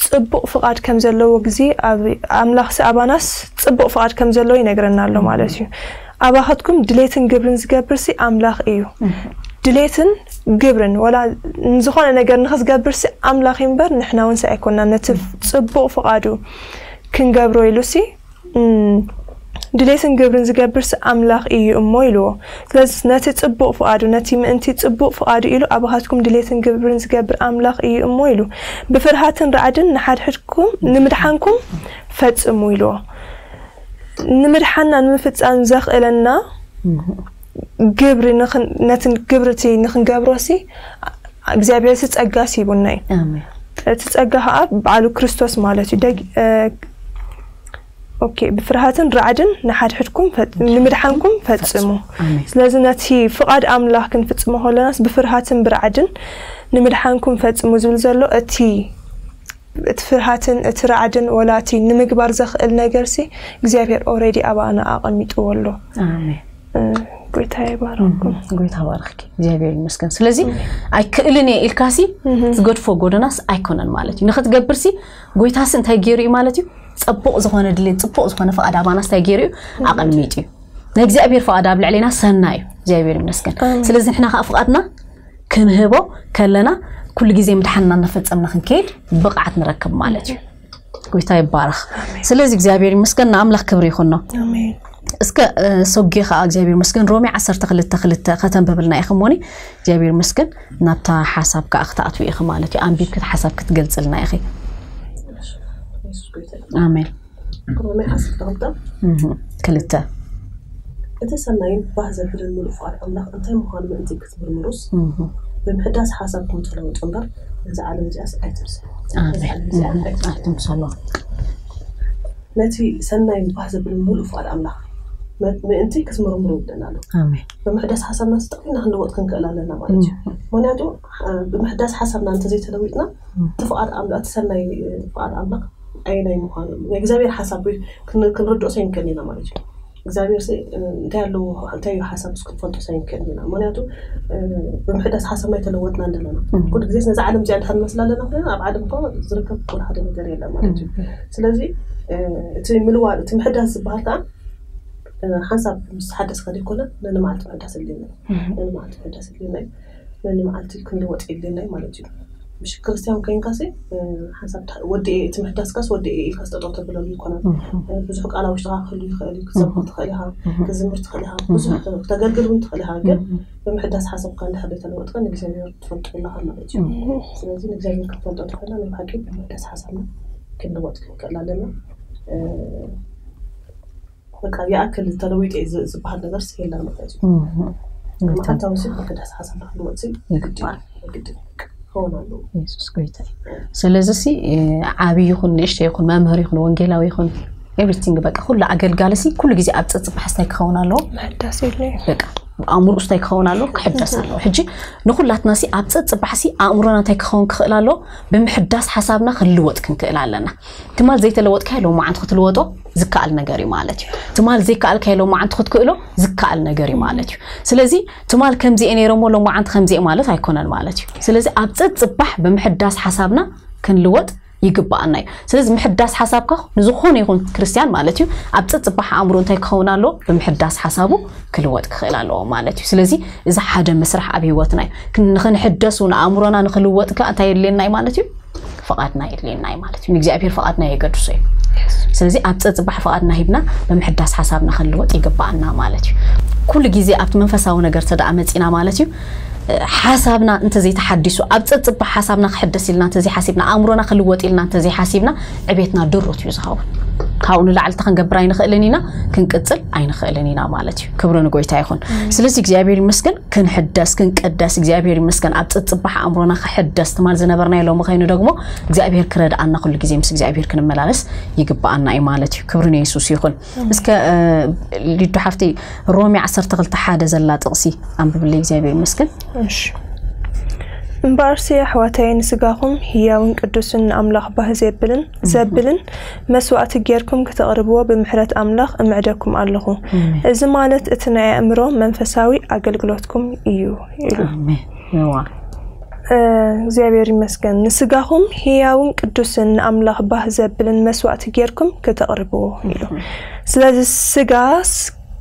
ጽቡቕ ፍቓድ ከም ዘለዎ ግዜ ኣምላኽሲ ኣባናስ ጽቡቕ ፍቓድ ከም ዘለዎ ይነግረና ኣሎ ማለት እዩ። ኣባኻትኩም ድሌትን ግብርን ዝገብርሲ ኣምላኽ እዩ። ድሌትን ግብርን ወላ ዝኾነ ነገር ንኽትገብርሲ ኣምላኽ እምበር ንሕና እውን ሲ ኣይኮናን። ነቲ ጽቡቕ ፍቓዱ ክንገብሮ ኢሉሲ ድሌትን ግብርን ዝገብርሲ ኣምላኽ እዩ እሞ ኢልዎ። ስለዚ ነቲ ጽቡቕ ፍቓዱ፣ ነቲ ምእንቲ ጽቡቕ ፍቓዱ ኢሉ ኣባኻትኩም ድሌትን ግብርን ዝገብር ኣምላኽ እዩ እሞ ኢሉ። ብፍርሃትን ራዕድን ንሓድሕድኩም ንምድሓንኩም ፈጽሙ ኢልዎ። ንምድሓንና ንምፍጻም ዘኽእለና ግብሪ ነቲ ግብሪ እቲ ንክንገብሮ ሲ እግዚኣብሔር ሲ ጸጋ ሲ ሂቡና እዩ። እቲ ጸጋ ከዓ በዓሉ ክርስቶስ ማለት እዩ። ኦኬ፣ ብፍርሃትን ራዕድን ንሓድሕድኩም ንምድሓንኩም ፈጽሙ። ስለዚ ነቲ ፍቓድ ኣምላኽ ክንፍጽሞ ከለናስ ብፍርሃትን ብራዕድን ንምድሓንኩም ፈጽሙ ዝብል ዘሎ እቲ እቲ ፍርሃትን እቲ ራዕድን ወላ እቲ ንምግባር ዘኽእል ነገር ሲ እግዚኣብሔር ኦሬዲ ኣባና ኣቐሚጥዎ ኣሎ። ጎይታ ይባረኩም። ጎይታ ባርኽኪ። እግዚኣብሔር ይመስገን። ስለዚ ኣይክእልን እየ ኢልካሲ ዝገድፎ ጎደናስ ኣይኮነን ማለት እዩ። ንኽትገብርሲ ጎይታሲ እንታይ ገይሩ እዩ ማለት እዩ? ጽቡቕ ዝኾነ ድሌት፣ ጽቡቕ ዝኾነ ፍቓድ ኣባናስ እንታይ ገይሩ እዩ? ኣቐሚጡ እዩ። ናይ እግዚኣብሔር ፍቓድ ኣብ ልዕሌና ሰናይ እዩ። እግዚኣብሔር ይመስገን። ስለዚ ንሕና ከዓ ፍቓድና ክንህቦ ከለና ኩሉ ግዜ ምድሓንና እናፈጸምና ክንከይድ ብቕዓት ንረክብ ማለት እዩ። ጎይታ ይባረኽ። ስለዚ እግዚኣብሔር ይመስገን፣ ንኣምላኽ ክብሪ ይኹኖ። እስከ ሶጌ ከዓ እግዚኣብሔር ይመስገን ሮሜ ዓሰርተ ክልተ ክልተ ከተንብብልና ኢኺ እሞኒ። እግዚኣብሔር ይመስገን ናብታ ሓሳብ ከዓ ክትኣትዊ ኢኺ ማለት እዩ። ኣንቢብኪ ሓሳብ ክትገልጽልና ኢኺ። ኣሜን። ሮሜ ዓሰርተ ክልተ ክልተ፣ እቲ ሰናይን ባህ ዘብልን ምሉእ ፍቓድ ኣምላኽ እንታይ ምዃኑ ምእንቲ ክትምርምሩስ፣ ብምሕዳስ ሓሳብኩም ተለወጡ እምበር፣ ነዛ ዓለም እዚኣስ ኣይትምሰሉ። ነዛ ዓለም እዚኣ ኣይትምሰሉ። ነቲ ሰናይን ባህ ዘብልን ምሉእ ፍቓድ ኣምላኽ ምእንቲ ክትምርምሩ ይብለና ኣሎ። ብምሕዳስ ሓሳብና ስጠቒና ክንልወጥ ክንክእል ኣለና ማለት እዩ። ምክንያቱ ብምሕዳስ ሓሳብና እንተዘይተለዊጥና፣ እቲ ፍቓድ ኣምላኽ፣ እቲ ሰናይ ፍቓድ ኣምላኽ ኣየናይ ምዃኑ፣ ናይ እግዚኣብሔር ሓሳብ ክንርድኦ ኣይንክእልን ኢና ማለት እዩ። እግዚኣብሔር እንታይ ኣለዎ፣ እንታይ እዩ ሓሳብ ክንፈልጦ ኣይንክእልን ኢና። ምክንያቱ ብምሕዳስ ሓሳብና ኣይተለወጥና ኣለና። ኩሉ ግዜ ነዚ ዓለም እዚኣ ድሓን መስላ ኣለና ኮይና፣ ኣብ ዓለም እኮ ዝርከብ ወላ ሓደ ነገር የለን ማለት እዩ። ስለዚ እቲ ምልዋል፣ እቲ ምሕዳስ ዝበሃል ከዓ ሓንሳብ ምስ ሓደስካ ዘይኮነ፣ ነንመዓልቲ ምሕዳስ ኣድልየና እዩ። ነንመዓልቲ ምሕዳስ ኣድልየና እዩ። ነንመዓልቲ ክንልወጥ የድልየና እዩ ማለት እዩ። ምሽ ክርስትያን ኮይንካሲ ሓንሳብ ወዲ እቲ ምሕዳስካስ ወዲ ኢልካ ስጠጠው ተብለሉ ይኮነን። ብዙሕ ቃል ኣብ ውሽጥካ ክህሉ ይኽእል እዩ፣ ክትሰብኽ ትኽእል ኢኻ፣ ክትዝምር ትኽእል ኢኻ፣ ብዙሕ ክተገልግል እውን ትኽእል ኢኻ። ግን ብምሕዳስ ሓሳብካ እንድሕር ዘይተለወጥካ ንእግዚኣብሔር ትፈልጦ ኣለኻ ማለት እዩ። ስለዚ ንእግዚኣብሔር ክትፈልጦ ተኾይና ናይ ብሓቂ ብምሕዳስ ሓሳብና ክንልወጥ ክንክእል ኣለና። በቃ ይኣክል ተለዊጠ ዝበሃል ነገር የለን ማለት እዩ። መዓልታዊ ሲ ምሕዳስ ሓሳብ ንክልወጥ ሲ ግድን ግድን ክኸውን ኣለዎ። የሱስ ጎይታ እዩ። ስለዚ ሲ ዓብዪ ይኹን ንእሽቶ ይኹን መምህር ይኹን ወንጌላዊ ይኹን ኤቭሪቲንግ በቃ ኩሉ ኣገልጋሊ ሲ ኩሉ ግዜ ኣብ ፀፅባሕ ስታይ ክኸውን ኣለዎ። ምሕዳስ የድልዮ። በቃ ኣእምሮኡ ስታይ ክኸውን ኣለዎ፣ ክሕደስ ኣለዎ። ሕጂ ንኩላትና ሲ ኣብ ፀፅባሕ ሲ ኣእምሮና እንታይ ክኸውን ክኽእል ኣለዎ? ብምሕዳስ ሓሳብና ክንልወጥ ክንክእል ኣለና። ትማል ዘይተለወጥካዮ ሎማዓንቲ ክትልወጦ ዝከኣል ነገር እዩ ማለት እዩ። ትማል ዘይከኣልካዮ ሎማዓንቲ ክትክእሎ ዝከኣል ነገር እዩ ማለት እዩ። ስለዚ ትማል ከምዚ እየ ነይረ እሞ ሎማዓንቲ ከምዚ እየ ማለት ኣይኮነን ማለት እዩ። ስለዚ ኣብ ፀፅባሕ ብምሕዳስ ሓሳብና ክንልወጥ ይግባኣና እዩ። ስለዚ ምሕዳስ ሓሳብካ ንዝኾነ ይኹን ክርስትያን ማለት እዩ ኣብ ጸጽባሕ ኣእምሮ እንታይ ክኸውን ኣለዎ? ብምሕዳስ ሓሳቡ ክልወጥ ክኽእል ኣለዎ ማለት እዩ። ስለዚ እዚ ሓደ መስራሕ ኣብ ህይወትና እዩ። ክን- ንኽንሕደስ እውን ኣእምሮና ንኽልወጥ ከኣ እንታይ የድልየና እዩ ማለት እዩ? ፍቓድና የድልየና እዩ ማለት እዩ። ንእግዚኣብሔር ፍቓድና የገድሶ እዩ። ስለዚ ኣብ ጸጽባሕ ፍቓድና ሂብና ብምሕዳስ ሓሳብና ክንልወጥ ይግባኣና ማለት እዩ። ኩሉ ግዜ ኣብቲ መንፈሳዊ ነገር ተደኣ መጺና ማለት እዩ ሓሳብና እንተዘይተሓዲሱ ኣብ ጸጽባሕ ሓሳብና ክሕደስ ኢልና እንተዘይሓሲብና ኣእምሮና ክልወጥ ኢልና እንተዘይሓሲብና ዕቤትና ድሩት እዩ ዝኸውን። ካብኡ ንላዕሊ ክንገብር ኣይንኽእልን ኢና፣ ክንቅጽል ኣይንኽእልን ኢና ማለት እዩ። ክብሪ ንጎይታ ይኹን። ስለዚ እግዚኣብሔር ይመስገን ክንሕደስ ክንቀደስ እግዚኣብሔር ይመስገን ኣብ ጸጽባሕ ኣእምሮና ክሕደስ ትማል ዝነበርናዮ ሎሚ ከይኑ ደግሞ እግዚኣብሔር ክረድኣና ኩሉ ግዜ ምስ እግዚኣብሔር ክንመላለስ ይግባኣና እዩ ማለት እዩ። ክብሪ ንየሱስ ይኹን። እስከ ሊዱ ሓፍተይ ሮሜ ዓሰርተ ክልተ ሓደ ዘላ ጥቕሲ ኣንብብለይ እግዚኣብሔር ይመስገን። እሺ እምበኣርሲ ኣሕዋተይ ንስጋኹም ህያውን ቅዱስን ንኣምላኽ ባህ ዘብልን ዘብልን መስዋእቲ ጌርኩም ክተቕርብዎ ብምሕረት ኣምላኽ እምዕደኩም ኣለኹ። እዚ ማለት እቲ ናይ ኣእምሮ መንፈሳዊ ኣገልግሎትኩም እዩ ኢሉ። እግዚኣብሔር ይመስገን። ንስጋኹም ህያውን ቅዱስን ንኣምላኽ ባህ ዘብልን መስዋእቲ ጌርኩም ክተቕርብዎ ኢሉ። ስለዚ ስጋስ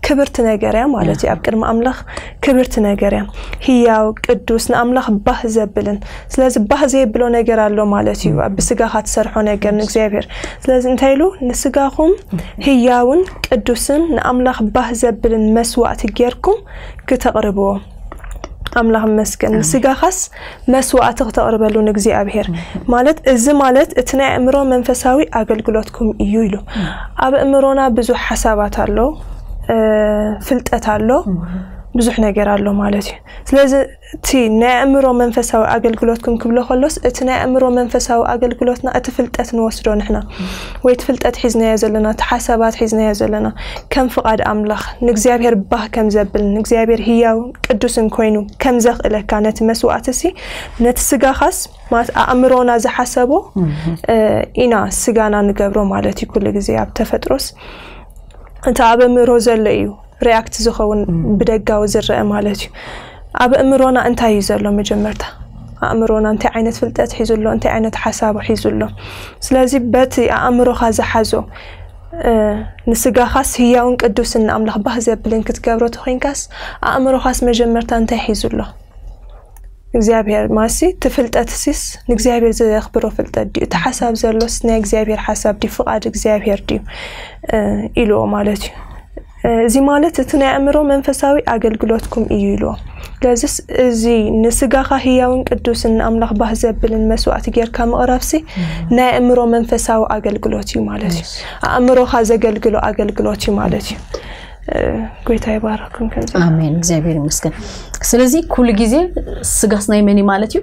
ክብርቲ ነገር እያ ማለት እዩ። ኣብ ቅድሚ ኣምላኽ ክብርቲ ነገር እያ። ህያው ቅዱስ ንኣምላኽ ባህ ዘብልን ስለዚ ባህ ዘየብሎ ነገር ኣሎ ማለት እዩ። ኣብ ብስጋኻ ትሰርሖ ነገር ንእግዚኣብሔር። ስለዚ እንታይ ኢሉ ንስጋኹም ህያውን ቅዱስን ንኣምላኽ ባህ ዘብልን መስዋእቲ ጌርኩም ክተቕርብዎ ኣምላኽ መስገን ንስጋኻስ መስዋእቲ ክተቕርበሉ ንእግዚኣብሔር ማለት እዚ ማለት እቲ ናይ ኣእምሮ መንፈሳዊ ኣገልግሎትኩም እዩ ኢሉ። ኣብ ኣእምሮና ብዙሕ ሓሳባት ኣሎ፣ ፍልጠት ኣሎ፣ ብዙሕ ነገር ኣሎ ማለት እዩ። ስለዚ እቲ ናይ ኣእምሮ መንፈሳዊ ኣገልግሎትኩም ክብሎ ከሎስ እቲ ናይ ኣእምሮ መንፈሳዊ ኣገልግሎትና እቲ ፍልጠት ንወስዶ ንሕና ወይ እቲ ፍልጠት ሒዝናዮ ዘለና እቲ ሓሳባት ሒዝናዮ ዘለና ከም ፍቓድ ኣምላኽ ንእግዚኣብሔር ባህ ከም ዘብል ንእግዚኣብሔር ህያው ቅዱስን ኮይኑ ከም ዘኽእለካ ነቲ መስዋእቲ ሲ ነቲ ስጋኻስ ማለት ኣእምሮና ዝሓሰቦ ኢና ስጋና ንገብሮ ማለት እዩ። ኩሉ ግዜ ኣብ ተፈጥሮስ እቲ ኣብ ኣእምሮ ዘሎ እዩ ሪያክት ዝኸውን ብደጋዊ ዝረአ ማለት እዩ። ኣብ ኣእምሮና እንታይ እዩ ዘሎ መጀመርታ ኣእምሮና እንታይ ዓይነት ፍልጠት ሒዙ ኣሎ እንታይ ዓይነት ሓሳቡ ሒዙ ኣሎ። ስለዚ በቲ ኣእምሮኻ ዝሓዞ ንስጋኻስ ህያውን ቅዱስን ንኣምላኽ ባህ ዘብልን ክትገብሮ ተኾይንካስ ኣእምሮኻስ መጀመርታ እንታይ ሒዙ ኣሎ? እግዚኣብሔር ማሲ እቲ ፍልጠት ሲስ ንእግዚኣብሔር ዘኽብሮ ፍልጠት ድዩ እቲ ሓሳብ ዘሎስ ናይ እግዚኣብሔር ሓሳብ ድዩ ፍቓድ እግዚኣብሔር ድዩ ኢልዎ ማለት እዩ። እዚ ማለት እቲ ናይ ኣእምሮ መንፈሳዊ ኣገልግሎትኩም እዩ ኢልዎ። ስለዚስ እዚ ንስጋኻ ህያውን ቅዱስን ንኣምላኽ ባህ ዘብልን መስዋእቲ ጌርካ ምቕራብሲ ናይ ኣእምሮ መንፈሳዊ ኣገልግሎት እዩ ማለት እዩ። ኣእምሮኻ ዘገልግሎ ኣገልግሎት እዩ ማለት እዩ። ጎይታ ይባረኩም። ከምዚ ኣሜን። እግዚኣብሔር ይመስገን። ስለዚ ኩሉ ግዜ ስጋስ ናይ መን እዩ ማለት እዩ?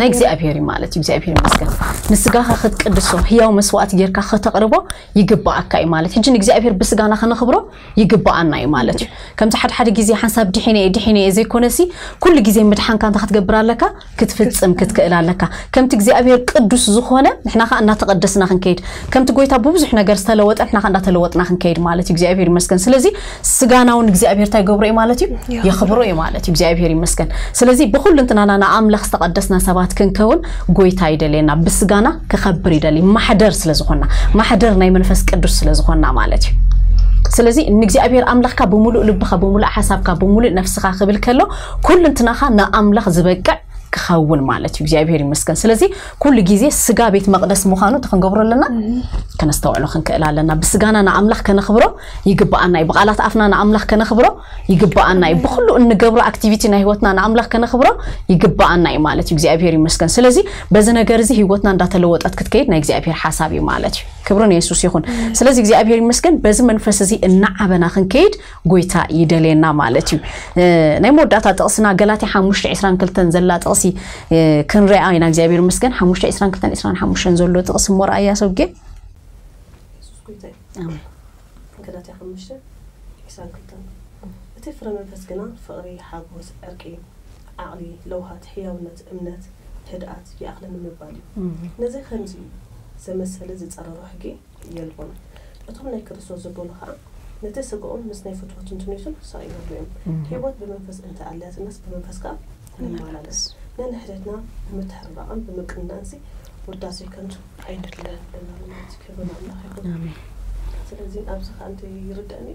ናይ እግዚኣብሔር እዩ ማለት እዩ። እግዚኣብሔር ይመስገን። ንስጋኻ ክትቅድሶ ህያው መስዋእቲ ጌርካ ከተቕርቦ ይግባኣካ እዩ ማለት ሕጂ ንእግዚኣብሔር ብስጋና ከነኽብሮ ይግባኣና እዩ ማለት እዩ። ከምዚ ሓደ ሓደ ግዜ ሓንሳብ ድሒነ እየ ድሒነ እየ ዘይኮነሲ ኩሉ ግዜ ምድሓንካ እንታይ ክትገብር ኣለካ? ክትፍጽም ክትክእል ኣለካ። ከምቲ እግዚኣብሔር ቅዱስ ዝኾነ ንሕና ኸዓ እናተቐደስና ክንከይድ ከምቲ ጎይታ ብብዙሕ ነገር ዝተለወጠ ንሕና ኸዓ እንዳተለወጥና ክንከይድ ማለት እዩ። እግዚኣብሔር ይመስገን። ስለዚ ስጋና እውን እግዚኣብሔር እንታይ ይገብሮ እዩ ማለት እዩ? የኽብሮ እዩ ማለት እዩ። እግዚኣብሔር ይመስገን። ስለዚ ብኹሉ እንትናና ንኣምላኽ ዝተቐደስና ሰባት ክንከውን ጎይታ ይደልየና። ብስጋና ክኸብር ይደሊ ማሕደር ስለ ዝኾና ማሕደር ናይ መንፈስ ቅዱስ ስለ ዝኾና ማለት እዩ። ስለዚ ንእግዚኣብሔር ኣምላኽካ ብምሉእ ልብኻ ብምሉእ ሓሳብካ ብምሉእ ነፍስኻ ክብል ከሎ ኩሉ እንትናኻ ንኣምላኽ ዝበቅዕ ክኸውን ማለት እዩ። እግዚኣብሔር ይመስገን። ስለዚ ኩሉ ግዜ ስጋ ቤት መቕደስ ምዃኑ እንታይ ክንገብሮ ኣለና? ከነስተውዕሎ ክንክእል ኣለና። ብስጋና ንኣምላኽ ከነኽብሮ ይግባኣና እዩ። ብቓላት ኣፍና ንኣምላኽ ከነኽብሮ ይግባኣና እዩ። ብኹሉ እንገብሮ ኣክቲቪቲ ናይ ህይወትና ንኣምላኽ ከነኽብሮ ይግባኣና እዩ ማለት እዩ። እግዚኣብሔር ይመስገን። ስለዚ በዚ ነገር እዚ ህይወትና እንዳተለወጠት ክትከይድ ናይ እግዚኣብሔር ሓሳብ እዩ ማለት እዩ። ክብሪ ንየሱስ ይኹን። ስለዚ እግዚኣብሔር ይመስገን። በዚ መንፈስ እዚ እናዓበና ክንከይድ ጎይታ ይደልየና ማለት እዩ። ናይ መወዳእታ ጥቕስና ገላትያ ሓሙሽተ ዕስራን ክልተን ዘላ ጥቕሲ ክንሪኣ ኢና። እግዚኣብሔር ይመስገን። ሓሙሽተ ዕስራን ክልተን ዕስራን ሓሙሽተን ዘሎ ጥቕሲ እሞ ረኣያ ሰብጌ። የሱስ ጎይታ እዩ። ገላትያ ሓሙሽተ ዕስራን ክልተን እቲ ፍረ መንፈስ ግና ፍቕሪ፣ ሓጎስ፣ ዕርቂ፣ ዓቕሊ፣ ለውሃት፣ ሕያውነት፣ እምነት፣ ህድኣት ይኣኽለኒ ምባል እዩ። ነዚ ከምዚ ዘመሰለ ዝጸረሮ ሕጊ የልቦን። እቶም ናይ ክርስቶስ ዝበሉ ኸኣ ነቲ ስግኦም ምስ ናይ ፍትወቱን ትምኒቱን ሰቒሎምሉ እዮም። ህይወት ብመንፈስ እንተ ኣልያትናስ ብመንፈስ ከኣ ንመላለስ። ነንሕድሕድና ብምትሕርራቕን ብምቅንናእንሲ ውዳሴ ከንቱ ኣይንድለ ኣለና ማለት እዩ። ክብሪ ንኣምላኽ ይኹን። ኣሜን። ስለዚ ኣብዚ ከዓ እንታይ ይርዳእኒ፣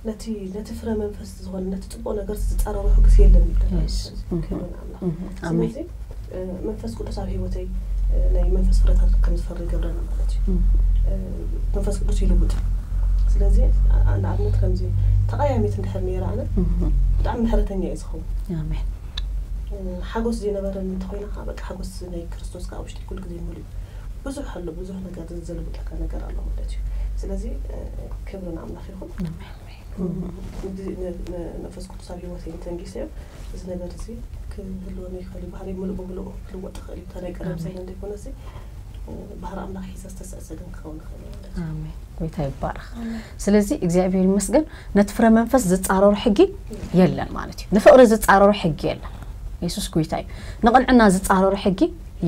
ነቲ ነቲ ፍረ መንፈስ ዝኾነ ነቲ ፅቡቕ ነገር ዝፃረሮ ሕግስ የለን ይብለና። Yes. ክብሪ ንኣምላኽ። ኣሜን። ስለዚ መንፈስ ቅዱስ ኣብ ህይወተይ ናይ መንፈስ ፍረታት ከም ዝፈሪ ይገብረኒ ማለት እዩ። መንፈስ ቅዱስ ይልውጥ። ስለዚ ንኣብነት ከምዚ ተቐያሚት እንድሕር ነይረ ኣነ ብጣዕሚ ምሕረተኛ እየ ዝኸውን። ኣሜን። ሓጎስ ዘይነበረኒ እንተኮይና ከዓ በቃ ሓጎስ ናይ ክርስቶስ ከዓ ውሽጢ ኩሉ ግዜ ሙሉ እዩ። ብዙሕ ኣሎ፣ ብዙሕ ነገር ዝልውጠካ ነገር ኣሎ ማለት እዩ። ስለዚ ክብሪ ንኣምላኽ ይኹን። መንፈስ ቅዱስ ኣብ ህይወተይ እንተንጊሰዮ እዚ ነገር እዚ ክህልወኒ ይኽእል እዩ። ባህሪ ሙሉእ ብሙሉእ ክልወጥ ይኽእል እዩ። እታ ናይ ቀደም ሳይን ዘይኮነ እዚ ባህሪ ኣምላኽ ሒዘ ዝተሰእሰ ግን ክኸውን ይኽእል እዩ ማለት እዩ። ኣሜን። ጎይታ ይባረኽ። ስለዚ እግዚኣብሔር ይመስገን፣ ነቲ ፍረ መንፈስ ዝጻረሮ ሕጊ የለን ማለት እዩ። ንፍቕሪ ዝጻረሮ ሕጊ የለን። የሱስ ጎይታ እዩ። ንቕንዕና ዝጻረሮ ሕጊ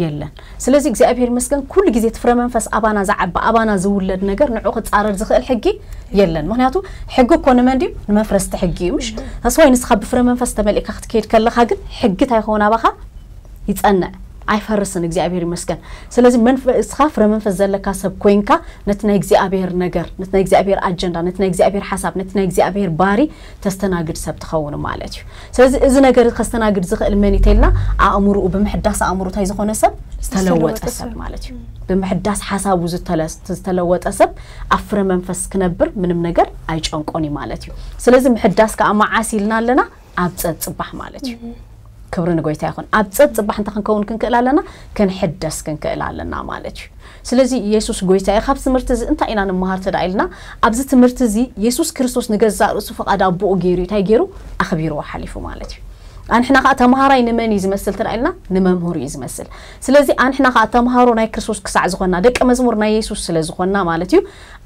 የለን። ስለዚ እግዚኣብሔር ይመስገን፣ ኩሉ ግዜ እቲ ፍረ መንፈስ ኣባና ዝዓቢ፣ ኣባና ዝውለድ ነገር ንዑ ክጻረር ዝኽእል ሕጊ የለን። ምክንያቱ ሕጊ እኮ ንመን ድዩ? ንመፍረስቲ ሕጊ እዩ፣ ምሽ? ታስዋይ ንስኻ ብፍረ መንፈስ ተመሊእካ ክትከይድ ከለኻ ግን ሕጊ እንታይ ይኸውን ኣባኻ? ይጸንዕ፣ ኣይፈርስን። እግዚኣብሔር ይመስገን። ስለዚ መንፈስካ ፍረ መንፈስ ዘለካ ሰብ ኮይንካ ነቲ ናይ እግዚኣብሔር ነገር፣ ነቲ ናይ እግዚኣብሔር ኣጀንዳ፣ ነቲ ናይ እግዚኣብሔር ሓሳብ፣ ነቲ ናይ እግዚኣብሔር ባሪ ተስተናግድ ሰብ ትኸውን ማለት እዩ። ስለዚ እዚ ነገር ከስተናግድ ዝኽእል መን እዩ ተልና፣ ኣእምሮኡ ብምሕዳስ ኣእምሮ እንታይ ዝኾነ ሰብ? ዝተለወጠ ዝተለወጠ ሰብ ሰብ። ማለት እዩ። ብምሕዳስ ሓሳቡ ዝተለ- ዝተለወጠ ሰብ ኣብ ፍረ መንፈስ ክነብር ምንም ነገር ኣይጨንቆን እዩ ማለት እዩ። ስለዚ ምሕዳስ ከዓ መዓስ ኢልና ኣለና? ኣብ ጸጽባሕ ማለት እዩ። ክብሪ ንጎይታ ይኹን። ኣብ ጸጽባሕ እንታይ ክንከውን ክንክእል ኣለና? ክንሕደስ ክንክእል ኣለና ማለት እዩ። ስለዚ የሱስ ጎይታ እዩ። ካብ ትምህርቲ እዚ እንታይ ኢና ንምሃር ተዳ ኢልና፣ ኣብዚ ትምህርቲ እዚ የሱስ ክርስቶስ ንገዛእ ርእሱ ፍቓድ ኣቦኡ ገይሩ እዩ። እንታይ ገይሩ? ኣኽቢርዎ ሓሊፉ ማለት እዩ። ኣንሕና ከዓ ተምሃራይ ንመን እዩ ዝመስል ተዳ ኢልና፣ ንመምህሩ እዩ ዝመስል። ስለዚ ኣንሕና ከዓ ተምሃሮ ናይ ክርስቶስ ክሳዕ ዝኾንና፣ ደቀ መዝሙር ናይ የሱስ ስለ ዝኾንና ማለት እዩ፣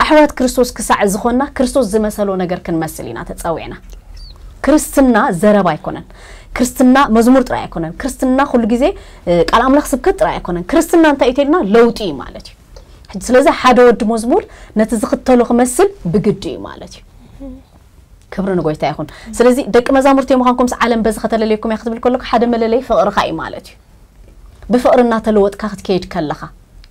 ኣሕዋት ክርስቶስ ክሳዕ ዝኾንና ክርስቶስ ዝመሰሎ ነገር ክንመስል ኢና ተጸዊዕና። ክርስትና ዘረባ ኣይኮነን። ክርስትና መዝሙር ጥራይ ኣይኮነን። ክርስትና ኩሉ ግዜ እ፣ ቃል ኣምላኽ ስብከት ጥራይ ኣይኮነን። ክርስትና እንታይ እዩ ተልና? ለውጢ እዩ ማለት እዩ። ሕጂ ስለዚ ሓደ ወዲ መዝሙር ነቲ ዝኽተሎ ክመስል ብግዲ እዩ ማለት እዩ። ክብሪ ንጎይታ ይኹን። ስለዚ ደቂ መዛሙርቲ ምዃንኩም ምስ ዓለም በዚ ከተለለየኩም እያ ክትብል ከለካ ሓደ መለለይ ፍቕርኻ እዩ ማለት እዩ። ብፍቕሪ እናተለወጥካ ክትከይድ ከለኻ፣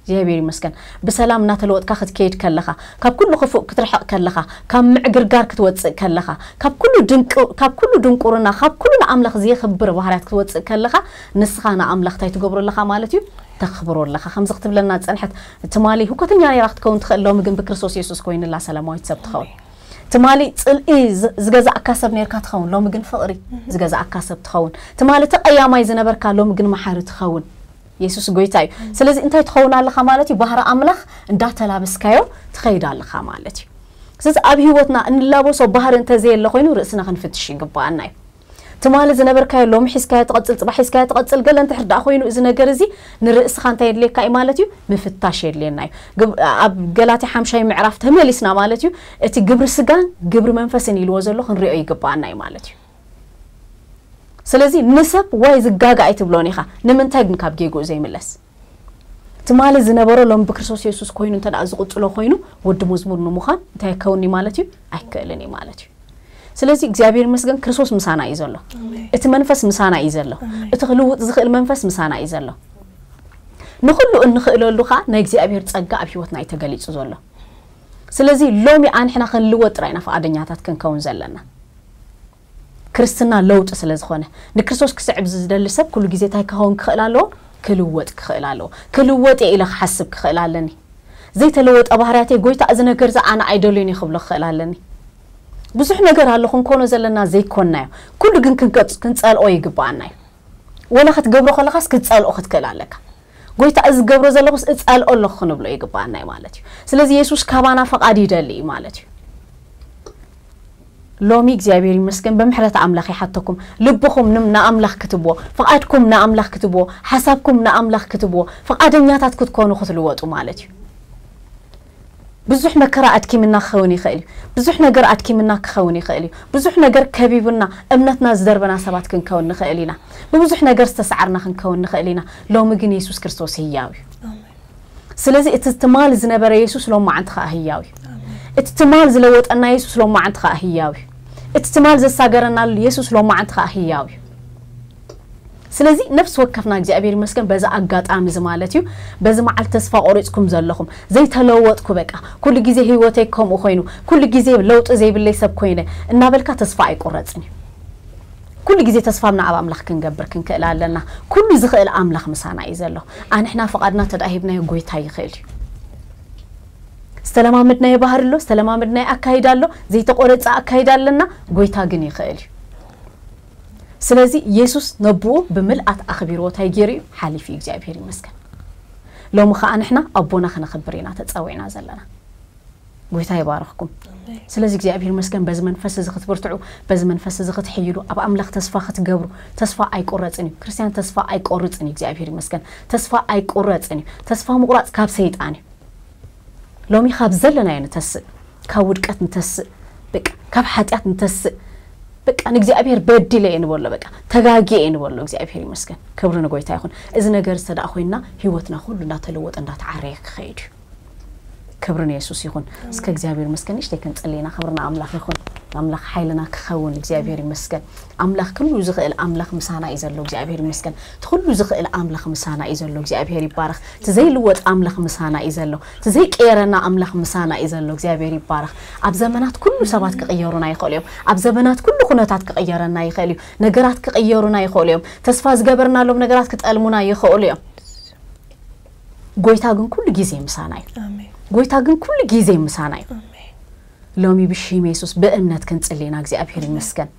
እግዚኣብሔር ይመስገን፣ ብሰላም እናተለወጥካ ክትከይድ ከለኻ፣ ካብ ኩሉ ክፉእ ክትርሕቕ ከለኻ፣ ካብ ምዕግርጋር ክትወፅእ ከለኻ፣ ካብ ኩሉ ድንቁ- ካብ ኩሉ ድንቁርና፣ ካብ ኩሉ ንኣምላኽ ዘየኽብር ባህርያት ክትወፅእ ከለኻ፣ ንስኻ ንኣምላኽ እንታይ ትገብሮ ኣለኻ ማለት እዩ? ተኽብሮ ኣለኻ። ከምዚ ክትብለና ዝጸንሐት፣ ትማሊ ህኮተኛ ነይራ ክትከውን ትኽእል፣ ሎሚ ግን ብክርስቶስ የሱስ ኮይንላ ሰላማዊት ሰብ ትኸውን። ትማሊ ጽልኢ ዝ- ዝገዛእካ ሰብ ነርካ ትኸውን፣ ሎሚ ግን ፍቕሪ ዝገዛእካ ሰብ ትኸውን። ትማሊ ተቐያማይ ዝነበርካ፣ ሎሚ ግን መሓሪ ትኸውን። የሱስ ጎይታ እዩ። ስለዚ እንታይ ትኸውን ኣለኻ ማለት እዩ? ባህሪ ኣምላኽ እንዳተላበስካዮ ትኸይድ ኣለኻ ማለት እዩ። ስለዚ ኣብ ህይወትና እንላበሶ ባህሪ እንተዘየለ ኮይኑ ርእስና ክንፍትሽ ይግባኣና እዩ። ትማሊ ዝነበርካዮ ሎሚ ሒዝካዮ ትቐጽል፣ ጽባሕ ሒዝካዮ ትቐጽል። ገለ እንድሕር ደኣ ኮይኑ እዚ ነገር እዚ ንርእስኻ እንታይ የድልየካ እዩ ማለት እዩ? ምፍታሽ የድልየና እዩ። ግብ- ኣብ ገላትያ ሓምሻይ ምዕራፍ ተመሊስና ማለት እዩ፣ እቲ ግብሪ ስጋን ግብሪ መንፈስን ኢልዎ ዘሎ ክንሪኦ ይግባኣና እዩ ማለት እዩ። ስለዚ ንሰብ ዋይ ዝጋጋ ኣይትብሎን ኢኻ። ንምንታይ ግን ካብ ጌግኡ ዘይምለስ? ትማሊ ዝነበሮ ሎም ብክርስቶስ የሱስ ኮይኑ እንተ ደኣ ዝቕጽሎ ኮይኑ፣ ወዲ መዝሙር ንምዃን እንታይ ይከውንኒ ማለት እዩ? ኣይክእልን እዩ ማለት እዩ። ስለዚ እግዚኣብሔር ይመስገን፣ ክርስቶስ ምሳና እዩ ዘሎ። እቲ መንፈስ ምሳና እዩ ዘሎ። እቲ ክልውጥ ዝኽእል መንፈስ ምሳና እዩ ዘሎ። ንኹሉ እንኽእለሉ ኸዓ ናይ እግዚኣብሔር ጸጋ ኣብ ህይወትና እዩ ተገሊጹ ዘሎ። ስለዚ ሎሚ ኣንሕና ክንልወጥ ጥራይ ኢና ፍቓደኛታት ክንከውን ዘለና። ክርስትና ለውጢ ስለ ዝኾነ፣ ንክርስቶስ ክስዕብ ዝደሊ ሰብ ኩሉ ግዜ እንታይ ክኸውን ክኽእል ኣለዎ? ክልወጥ ክኽእል ኣለዎ። ክልወጥ እየ ኢለ ክሓስብ ክኽእል ኣለኒ። ዘይተለወጠ ባህርያተይ፣ ጎይታ፣ እዚ ነገር እዚ ኣነ ኣይደልዮን እየ ክብሎ ክኽእል ኣለኒ። ብዙሕ ነገር ኣሎ ክንኮኖ ዘለና ዘይኮንናዮ። ኩሉ ግን ክንቀጽ- ክንጸልኦ ይግባኣና እዩ። ወላ ክትገብሮ ከለኻስ ክትጸልኦ ክትክእል ኣለካ። ጎይታ፣ እዚ ዝገብሮ ዘለኹስ እጸልኦ ኣለኹ ክንብሎ ይግባኣና እዩ ማለት እዩ። ስለዚ የሱስ ካባና ፈቓድ ይደሊ እዩ ማለት እዩ። ሎሚ እግዚኣብሔር ይመስገን ብምሕረት ኣምላኽ ይሓተኩም። ልብኹም ንም- ንኣምላኽ ክትብዎ፣ ፍቓድኩም ንኣምላኽ ክትብዎ፣ ሓሳብኩም ንኣምላኽ ክትብዎ፣ ፍቓደኛታት ክትኮኑ ክትልወጡ ማለት እዩ። ብዙሕ መከራ ኣድኪምና ክኸውን ይኽእል እዩ። ብዙሕ ነገር ኣድኪምና ክኸውን ይኽእል እዩ። ብዙሕ ነገር ከቢቡና እምነትና ዝደርበና ሰባት ክንከውን ንኽእል ኢና። ብብዙሕ ነገር ዝተሰዓርና ክንከውን ንኽእል ኢና። ሎሚ ግን የሱስ ክርስቶስ ህያው እዩ። ስለዚ እቲ ትማል ዝነበረ የሱስ ሎማዓንቲ ኸዓ ህያው እዩ። እቲ ትማል ዝለወጠና የሱስ ሎማዓንቲ ኸዓ ህያው እዩ። እቲ ትማል ዘሳገረናሉ የሱስ ሎማዓንቲ ኸዓ ህያው እዩ። ስለዚ ነፍሲ ወከፍና እግዚኣብሔር ይመስገን በዚ ኣጋጣሚ እዚ ማለት እዩ። በዚ መዓልቲ ተስፋ ቆሪጽኩም ዘለኹም ዘይተለወጥኩ በቃ ኩሉ ግዜ ህይወተይ ከምኡ ኮይኑ ኩሉ ግዜ ለውጢ ዘይብለይ ሰብ ኮይነ እናበልካ ተስፋ ኣይቁረጽን እዩ። ኩሉ ግዜ ተስፋና ኣብ ኣምላኽ ክንገብር ክንክእል ኣለና። ኩሉ ዝኽእል ኣምላኽ ምሳና እዩ ዘሎ። ኣንሕና ፍቓድና ተዳሂብናዮ ጎይታ ይኽእል እዩ። ዝተለማመድናዮ ባህሪ ኣሎ፣ ዝተለማመድናዮ ኣካይዳ ኣሎ፣ ዘይተቆረጸ ኣካይዳ ኣለና። ጎይታ ግን ይኽእል እዩ። ስለዚ የሱስ ነብኡ ብምልኣት ኣኽቢርዎ እንታይ ገይሩ እዩ ሓሊፉ እዩ። እግዚኣብሔር ይመስገን። ሎሚ ኸዓ ንሕና ኣቦና ክነኽብር ኢና ተጸዊዕና ዘለና። ጎይታ ይባርኽኩም። ስለዚ እግዚኣብሔር ይመስገን በዚ መንፈስ እዚ ክትብርትዑ፣ በዚ መንፈስ እዚ ክትሕይሉ፣ ኣብ ኣምላኽ ተስፋ ክትገብሩ። ተስፋ ኣይቁረጽን እዩ። ክርስትያን ተስፋ ኣይቆርጽን እዩ። እግዚኣብሔር ይመስገን ተስፋ ኣይቁረጽን እዩ። ተስፋ ምቁራጽ ካብ ሰይጣን እዩ። ሎሚ ካብ ዘለናዮ ንተስእ፣ ካብ ውድቀት ንተስእ፣ በቃ ካብ ሓጢኣት ንተስእ። በቃ ንእግዚኣብሔር በዲለ እየ ንበሎ፣ በቃ ተጋጊየ እየ ንበሎ። እግዚኣብሔር ይመስገን። ክብሪ ንጎይታ ይኹን። እዚ ነገር ዝተደኣ ኮይንና ህይወትና ኩሉ እንዳተለወጠ እንዳተዓረየ ክኸይድ እዩ። ክብሪ ንየሱስ ይኹን። እስከ እግዚኣብሔር ይመስገን። ንእሽተይ ክንጽሊ ኢና። ክብሪ ንኣምላኽ ይኹን። ኣምላኽ ሓይልና ክኸውን እግዚኣብሔር ይመስገን። ኣምላኽ ኩሉ ዝኽእል ኣምላኽ ምሳና እዩ ዘሎ እግዚኣብሔር ይመስገን። እቲ ኩሉ ዝኽእል ኣምላኽ ምሳና እዩ ዘሎ እግዚኣብሔር ይባረኽ። እቲ ዘይልወጥ ኣምላኽ ምሳና እዩ ዘሎ። እቲ ዘይቀየረና ኣምላኽ ምሳና እዩ ዘሎ እግዚኣብሔር ይባረኽ። ኣብ ዘመናት ኩሉ ሰባት ክቕየሩና ይኽእሉ እዮም። ኣብ ዘመናት ኩሉ ኩነታት ክቕየረና ይኽእል እዩ። ነገራት ክቕየሩና ይኽእሉ እዮም። ተስፋ ዝገበርናሎም ነገራት ክጠልሙና ይኽእሉ እዮም። ጎይታ ግን ኩሉ ግዜ ምሳና እዩ። ጎይታ ግን ኩሉ ግዜ ምሳና እዩ። ሎሚ ብሽም የሱስ ብእምነት ክንጽሊ ኢና እግዚኣብሔር ይመስገን።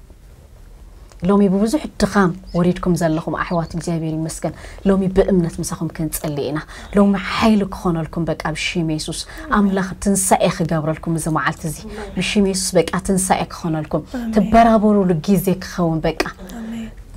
ሎሚ ብብዙሕ ድኻም ወሪድኩም ዘለኹም ኣሕዋት እግዚኣብሔር ይመስገን። ሎሚ ብእምነት ምሳኹም ክንጽሊ ኢና። ሎሚ ሓይሊ ክኾነልኩም በቃ ብሽም የሱስ ኣምላኽ ትንሳኤ ክገብረልኩም እዚ መዓልቲ እዚ ብሽም የሱስ በቃ ትንሳኤ ክኾነልኩም። ትበራበሩሉ ግዜ ክኸውን በቃ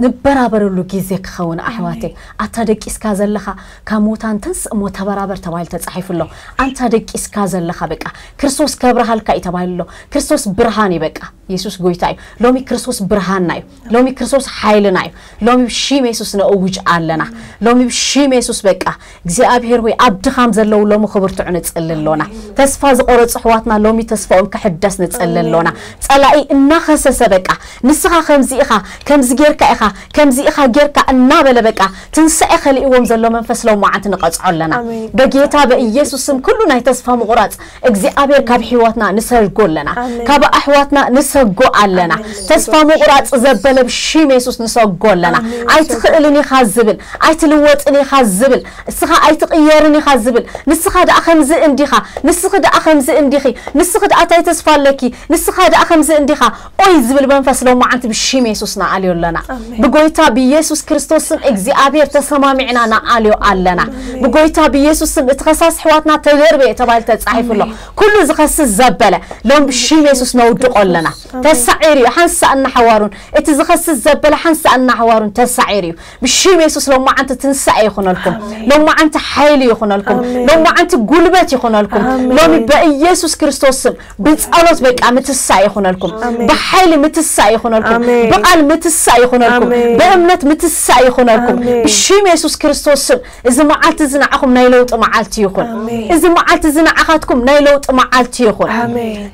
ንበራበረሉ ግዜ ክኸውን ኣሕዋተይ። ኣታ ደቂስካ ዘለኻ ካብ ሙታን ተንስእ እሞ ተበራበር ተባሂሉ ተጻሒፉ ኣሎ። ኣንታ ደቂስካ ዘለኻ በቃ ክርስቶስ ከብርሃልካ እዩ ተባሂሉ ኣሎ። ክርስቶስ ብርሃን እዩ በቃ። የሱስ ጎይታ እዩ። ሎሚ ክርስቶስ ብርሃንና እዩ። ሎሚ ክርስቶስ ሓይልና እዩ። ሎሚ ብሽም የሱስ ነእውጅ ኣለና። ሎሚ ብሽም የሱስ በቃ እግዚኣብሔር ሆይ ኣብ ድኻም ዘለዉ ሎሚ ክብርትዑ ንጽሊ ኣሎና። ተስፋ ዝቆረጹ ኣሕዋትና ሎሚ ተስፋኦም ክሕደስ ንጽሊ ኣሎና። ጸላኢ እናኸሰሰ በቃ ንስኻ ከምዚ ኢኻ ከምዚ ጌርካ ኢኻ ከምዚ ኢኻ ጌርካ እናበለ በቃ ትንሳኤ ከሊእዎም ዘሎ መንፈስ ሎማዓንቲ ንቐጽዖ ኣለና። በጌታ በኢየሱስ ስም ኩሉ ናይ ተስፋ ምቑራጽ እግዚኣብሔር ካብ ሕይወትና ንሰጎ ኣለና። ካብ ኣሕዋትና ንሰጎ ኣለና። ተስፋ ምቑራጽ ዘበለ ብሽም የሱስ ንሰጎ ኣለና። ኣይትኽእልን ኢኻ ዝብል ኣይትልወጥን ኢኻ ዝብል እስኻ ኣይትቕየርን ኢኻ ዝብል ንስኻ ደኣ ከምዚ እንዲኻ ንስኺ ደኣ ከምዚ እንዲኺ ንስኺ ደኣ እንታይ ተስፋ ኣለኪ ንስኻ ደኣ ከምዚ እንዲኻ ኦይ ዝብል መንፈስ ሎማዓንቲ ብሽም የሱስ ንኣልዮ ኣለና። ብጎይታ ብየሱስ ክርስቶስ ስም እግዚኣብሔር ተሰማሚዕና ንኣልዮ ኣለና። ብጎይታ ብየሱስ ስም እቲ ከሳስ ኣሕዋትና ተደርበየ ተባሂሉ ተጻሒፉ ኣሎ። ኩሉ ዝኸስስ ዘበለ ሎም ብሽም የሱስ ነውድቆ ኣለና። ተሳዒሩ እዩ ሓንሳእ እናሓዋሩን እቲ ዝኸስስ ዘበለ ሓንሳእ እናሓዋሩን ተሳዒሩ እዩ። ብሽም የሱስ ሎማዓንቲ ትንሳኤ ይኹነልኩም። ሎማዓንቲ ሓይሊ ይኹነልኩም። ሎማዓንቲ ጉልበት ይኹነልኩም። ሎሚ በኢየሱስ ክርስቶስ ስም ብጸሎት በቃ ምትሳእ ይኹነልኩም። ብሓይሊ ምትሳእ ይኹነልኩም። ብቃል ምትሳእ ይኹነልኩም። ብእምነት ምትሳእ ይኹነልኩም። ብሽም የሱስ ክርስቶስ ስም እዚ መዓልቲ እዚ ንዓኹም ናይ ለውጢ መዓልቲ ይኹን። እዚ መዓልቲ እዚ ንዓኻትኩም ናይ ለውጢ መዓልቲ ይኹን።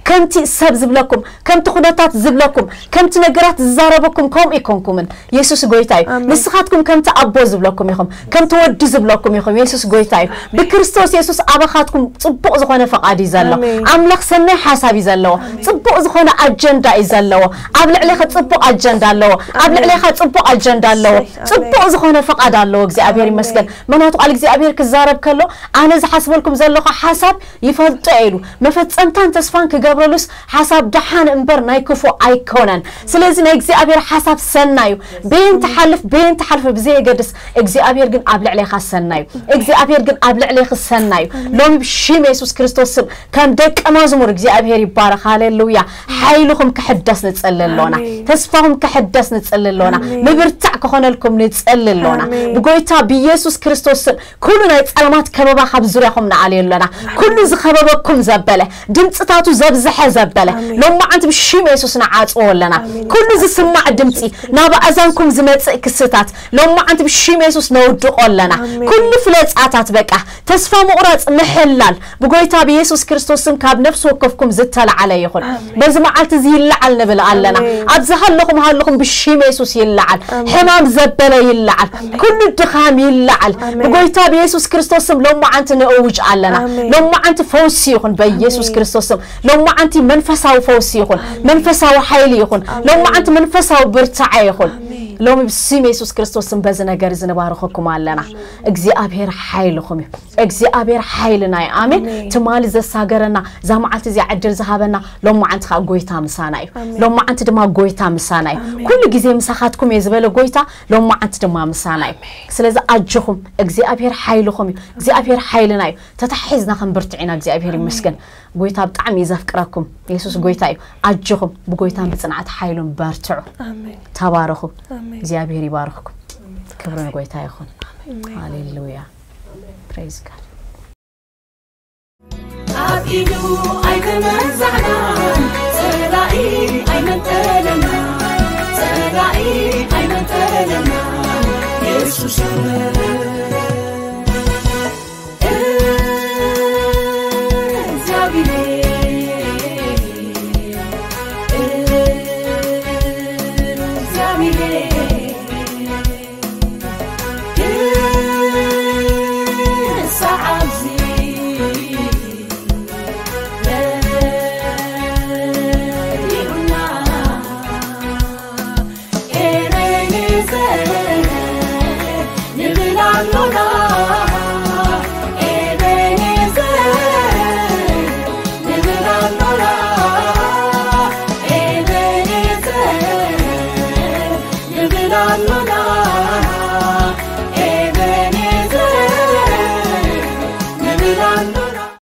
ከምቲ ሰብ ዝብለኩም ከምቲ ኩነታት ዝብለኩም ከምቲ ነገራት ዝዛረበኩም ከምኡ ይኮንኩምን። የሱስ ጎይታ እዩ። ንስኻትኩም ከምቲ ኣቦ ዝብለኩም ኢኹም፣ ከምቲ ወዲ ዝብለኩም ኢኹም። የሱስ ጎይታ እዩ። ብክርስቶስ የሱስ ኣባኻትኩም ጽቡቕ ዝኾነ ፈቓድ እዩ ዘሎ። ኣምላኽ ሰናይ ሓሳብ እዩ ዘለዎ። ጽቡቕ ዝኾነ ኣጀንዳ እዩ ዘለዎ። ኣብ ልዕሌኻ ጽቡቕ ኣጀንዳ ኣለዎ። ኣብ ልዕሌኻ ጽቡቕ ኣጀንዳ ኣለዎ። ጽቡቕ ዝኾነ ፈቓድ ኣለዎ። እግዚኣብሔር ይመስገን። ምኽንያቱ ቃል እግዚኣብሔር ክዛረብ ከሎ ኣነ ዝሓስበልኩም ዘለኹ ሓሳብ ይፈልጦ ኢሉ መፈጸምታን ተስፋን ክገብረሉስ ሓሳብ ደሓን እምበር ናይ ክፉ ኣይኮነን። ስለዚ ናይ እግዚኣብሔር ሓሳብ ሰናዩ በየን ትሓልፍ በየን ትሓልፍ ብዘየገድስ እግዚኣብሔር ግን ኣብ ልዕሌኻ ሰናዩ እግዚኣብሔር ግን ኣብ ልዕሌኺ ሰናዩ። ሎሚ ብሽም የሱስ ክርስቶስ ስም ከም ደቀ መዝሙር እግዚኣብሔር ይባረኽ። ሃሌሉያ። ሓይልኹም ክሕደስ ንጽሊ ኣሎና። ተስፋኹም ክሕደስ ንጽሊ ኣሎና። ምብርታዕ ክኾነልኩም ንጽሊ ኣሎና። ብጎይታ ብየሱስ ክርስቶስ ስም ኩሉ ናይ ጸልማት ከበባ ካብ ዙርያኹም ንኣልዮ ኣለና። ኩሉ ዝኸበበኩም ዘበለ ድምፅታቱ ዘብዝሐ ዘበለ ሎማዓንቲ ብሽም የሱስ ንዓጽዎ ኣለና። ኩሉ ዝስማዕ ድምጺ፣ ናብ ኣእዛንኩም ዝመጽእ ክስታት ሎማዓንቲ ብሽም የሱስ ነውድቆ ኣለና። ኩሉ ፍለጻታት፣ በቃ ተስፋ ምቑራጽ፣ ምሕላል ብጎይታ ብየሱስ ክርስቶስ ስም ካብ ነፍሲ ወከፍኩም ዝተላዓለ ይኹን። በዚ መዓልቲ እዚ ይለዓል ንብል ኣለና። ኣብዚ ሃለኹም ሃለኹም ብሽም የሱስ ይለዓል። ሕማም ዘበለ ይለዓል። ኩሉ ድኻም ይለዓል። ብጎይታ ብየሱስ ክርስቶስ ስም ሎማዓንቲ ንእውጅ ኣለና። ሎማዓንቲ ፈውሲ ይኹን በየሱስ ክርስቶስ ስም። ሎማዓንቲ መንፈሳዊ ፈውሲ ይኹን። መንፈሳዊ ሓይሊ ይኹን። ሎማዓንቲ መንፈሳዊ ብርታዐ ይኹን። ሎሚ ብስም የሱስ ክርስቶስ ስም በዚ ነገር እዚ ንባርኸኩም ኣለና። እግዚኣብሔር ሓይልኹም እዩ። እግዚኣብሔር ሓይልና እዩ። ኣሜን። ትማሊ ዘሳገረና፣ እዛ መዓልቲ እዚኣ ዕድል ዝሃበና፣ ሎማዓንቲ ከዓ ጎይታ ምሳና እዩ። ሎማዓንቲ ድማ ጎይታ ምሳና እዩ። ኩሉ ግዜ ምሳኻትኩም እየ ዝበለ ጎይታ፣ ሎማዓንቲ ድማ ምሳና እዩ። ስለዚ ኣጆኹም፣ እግዚኣብሔር ሓይልኹም እዩ። እግዚኣብሔር ሓይልና እዩ። ተታሒዝና ክንብርትዕ ኢና። እግዚኣብሔር ይመስገን። ጎይታ ብጣዕሚ እዩ ዘፍቅረኩም። የሱስ ጎይታ እዩ። ኣጆኹም፣ ብጎይታን ብጽንዓት ሓይሉን በርትዑ። ተባረኹ። እግዚኣብሔር ይባርኽኩም። ክብሪ ንጎይታ ይኹን። ሃሌሉያ። Praise God። ኣብ ኢዱ ኣይተመዛዕናን፣ ጸላኢ ኣይመንጠለናን፣ ጸላኢ ኣይመንጠለናን። የሱስ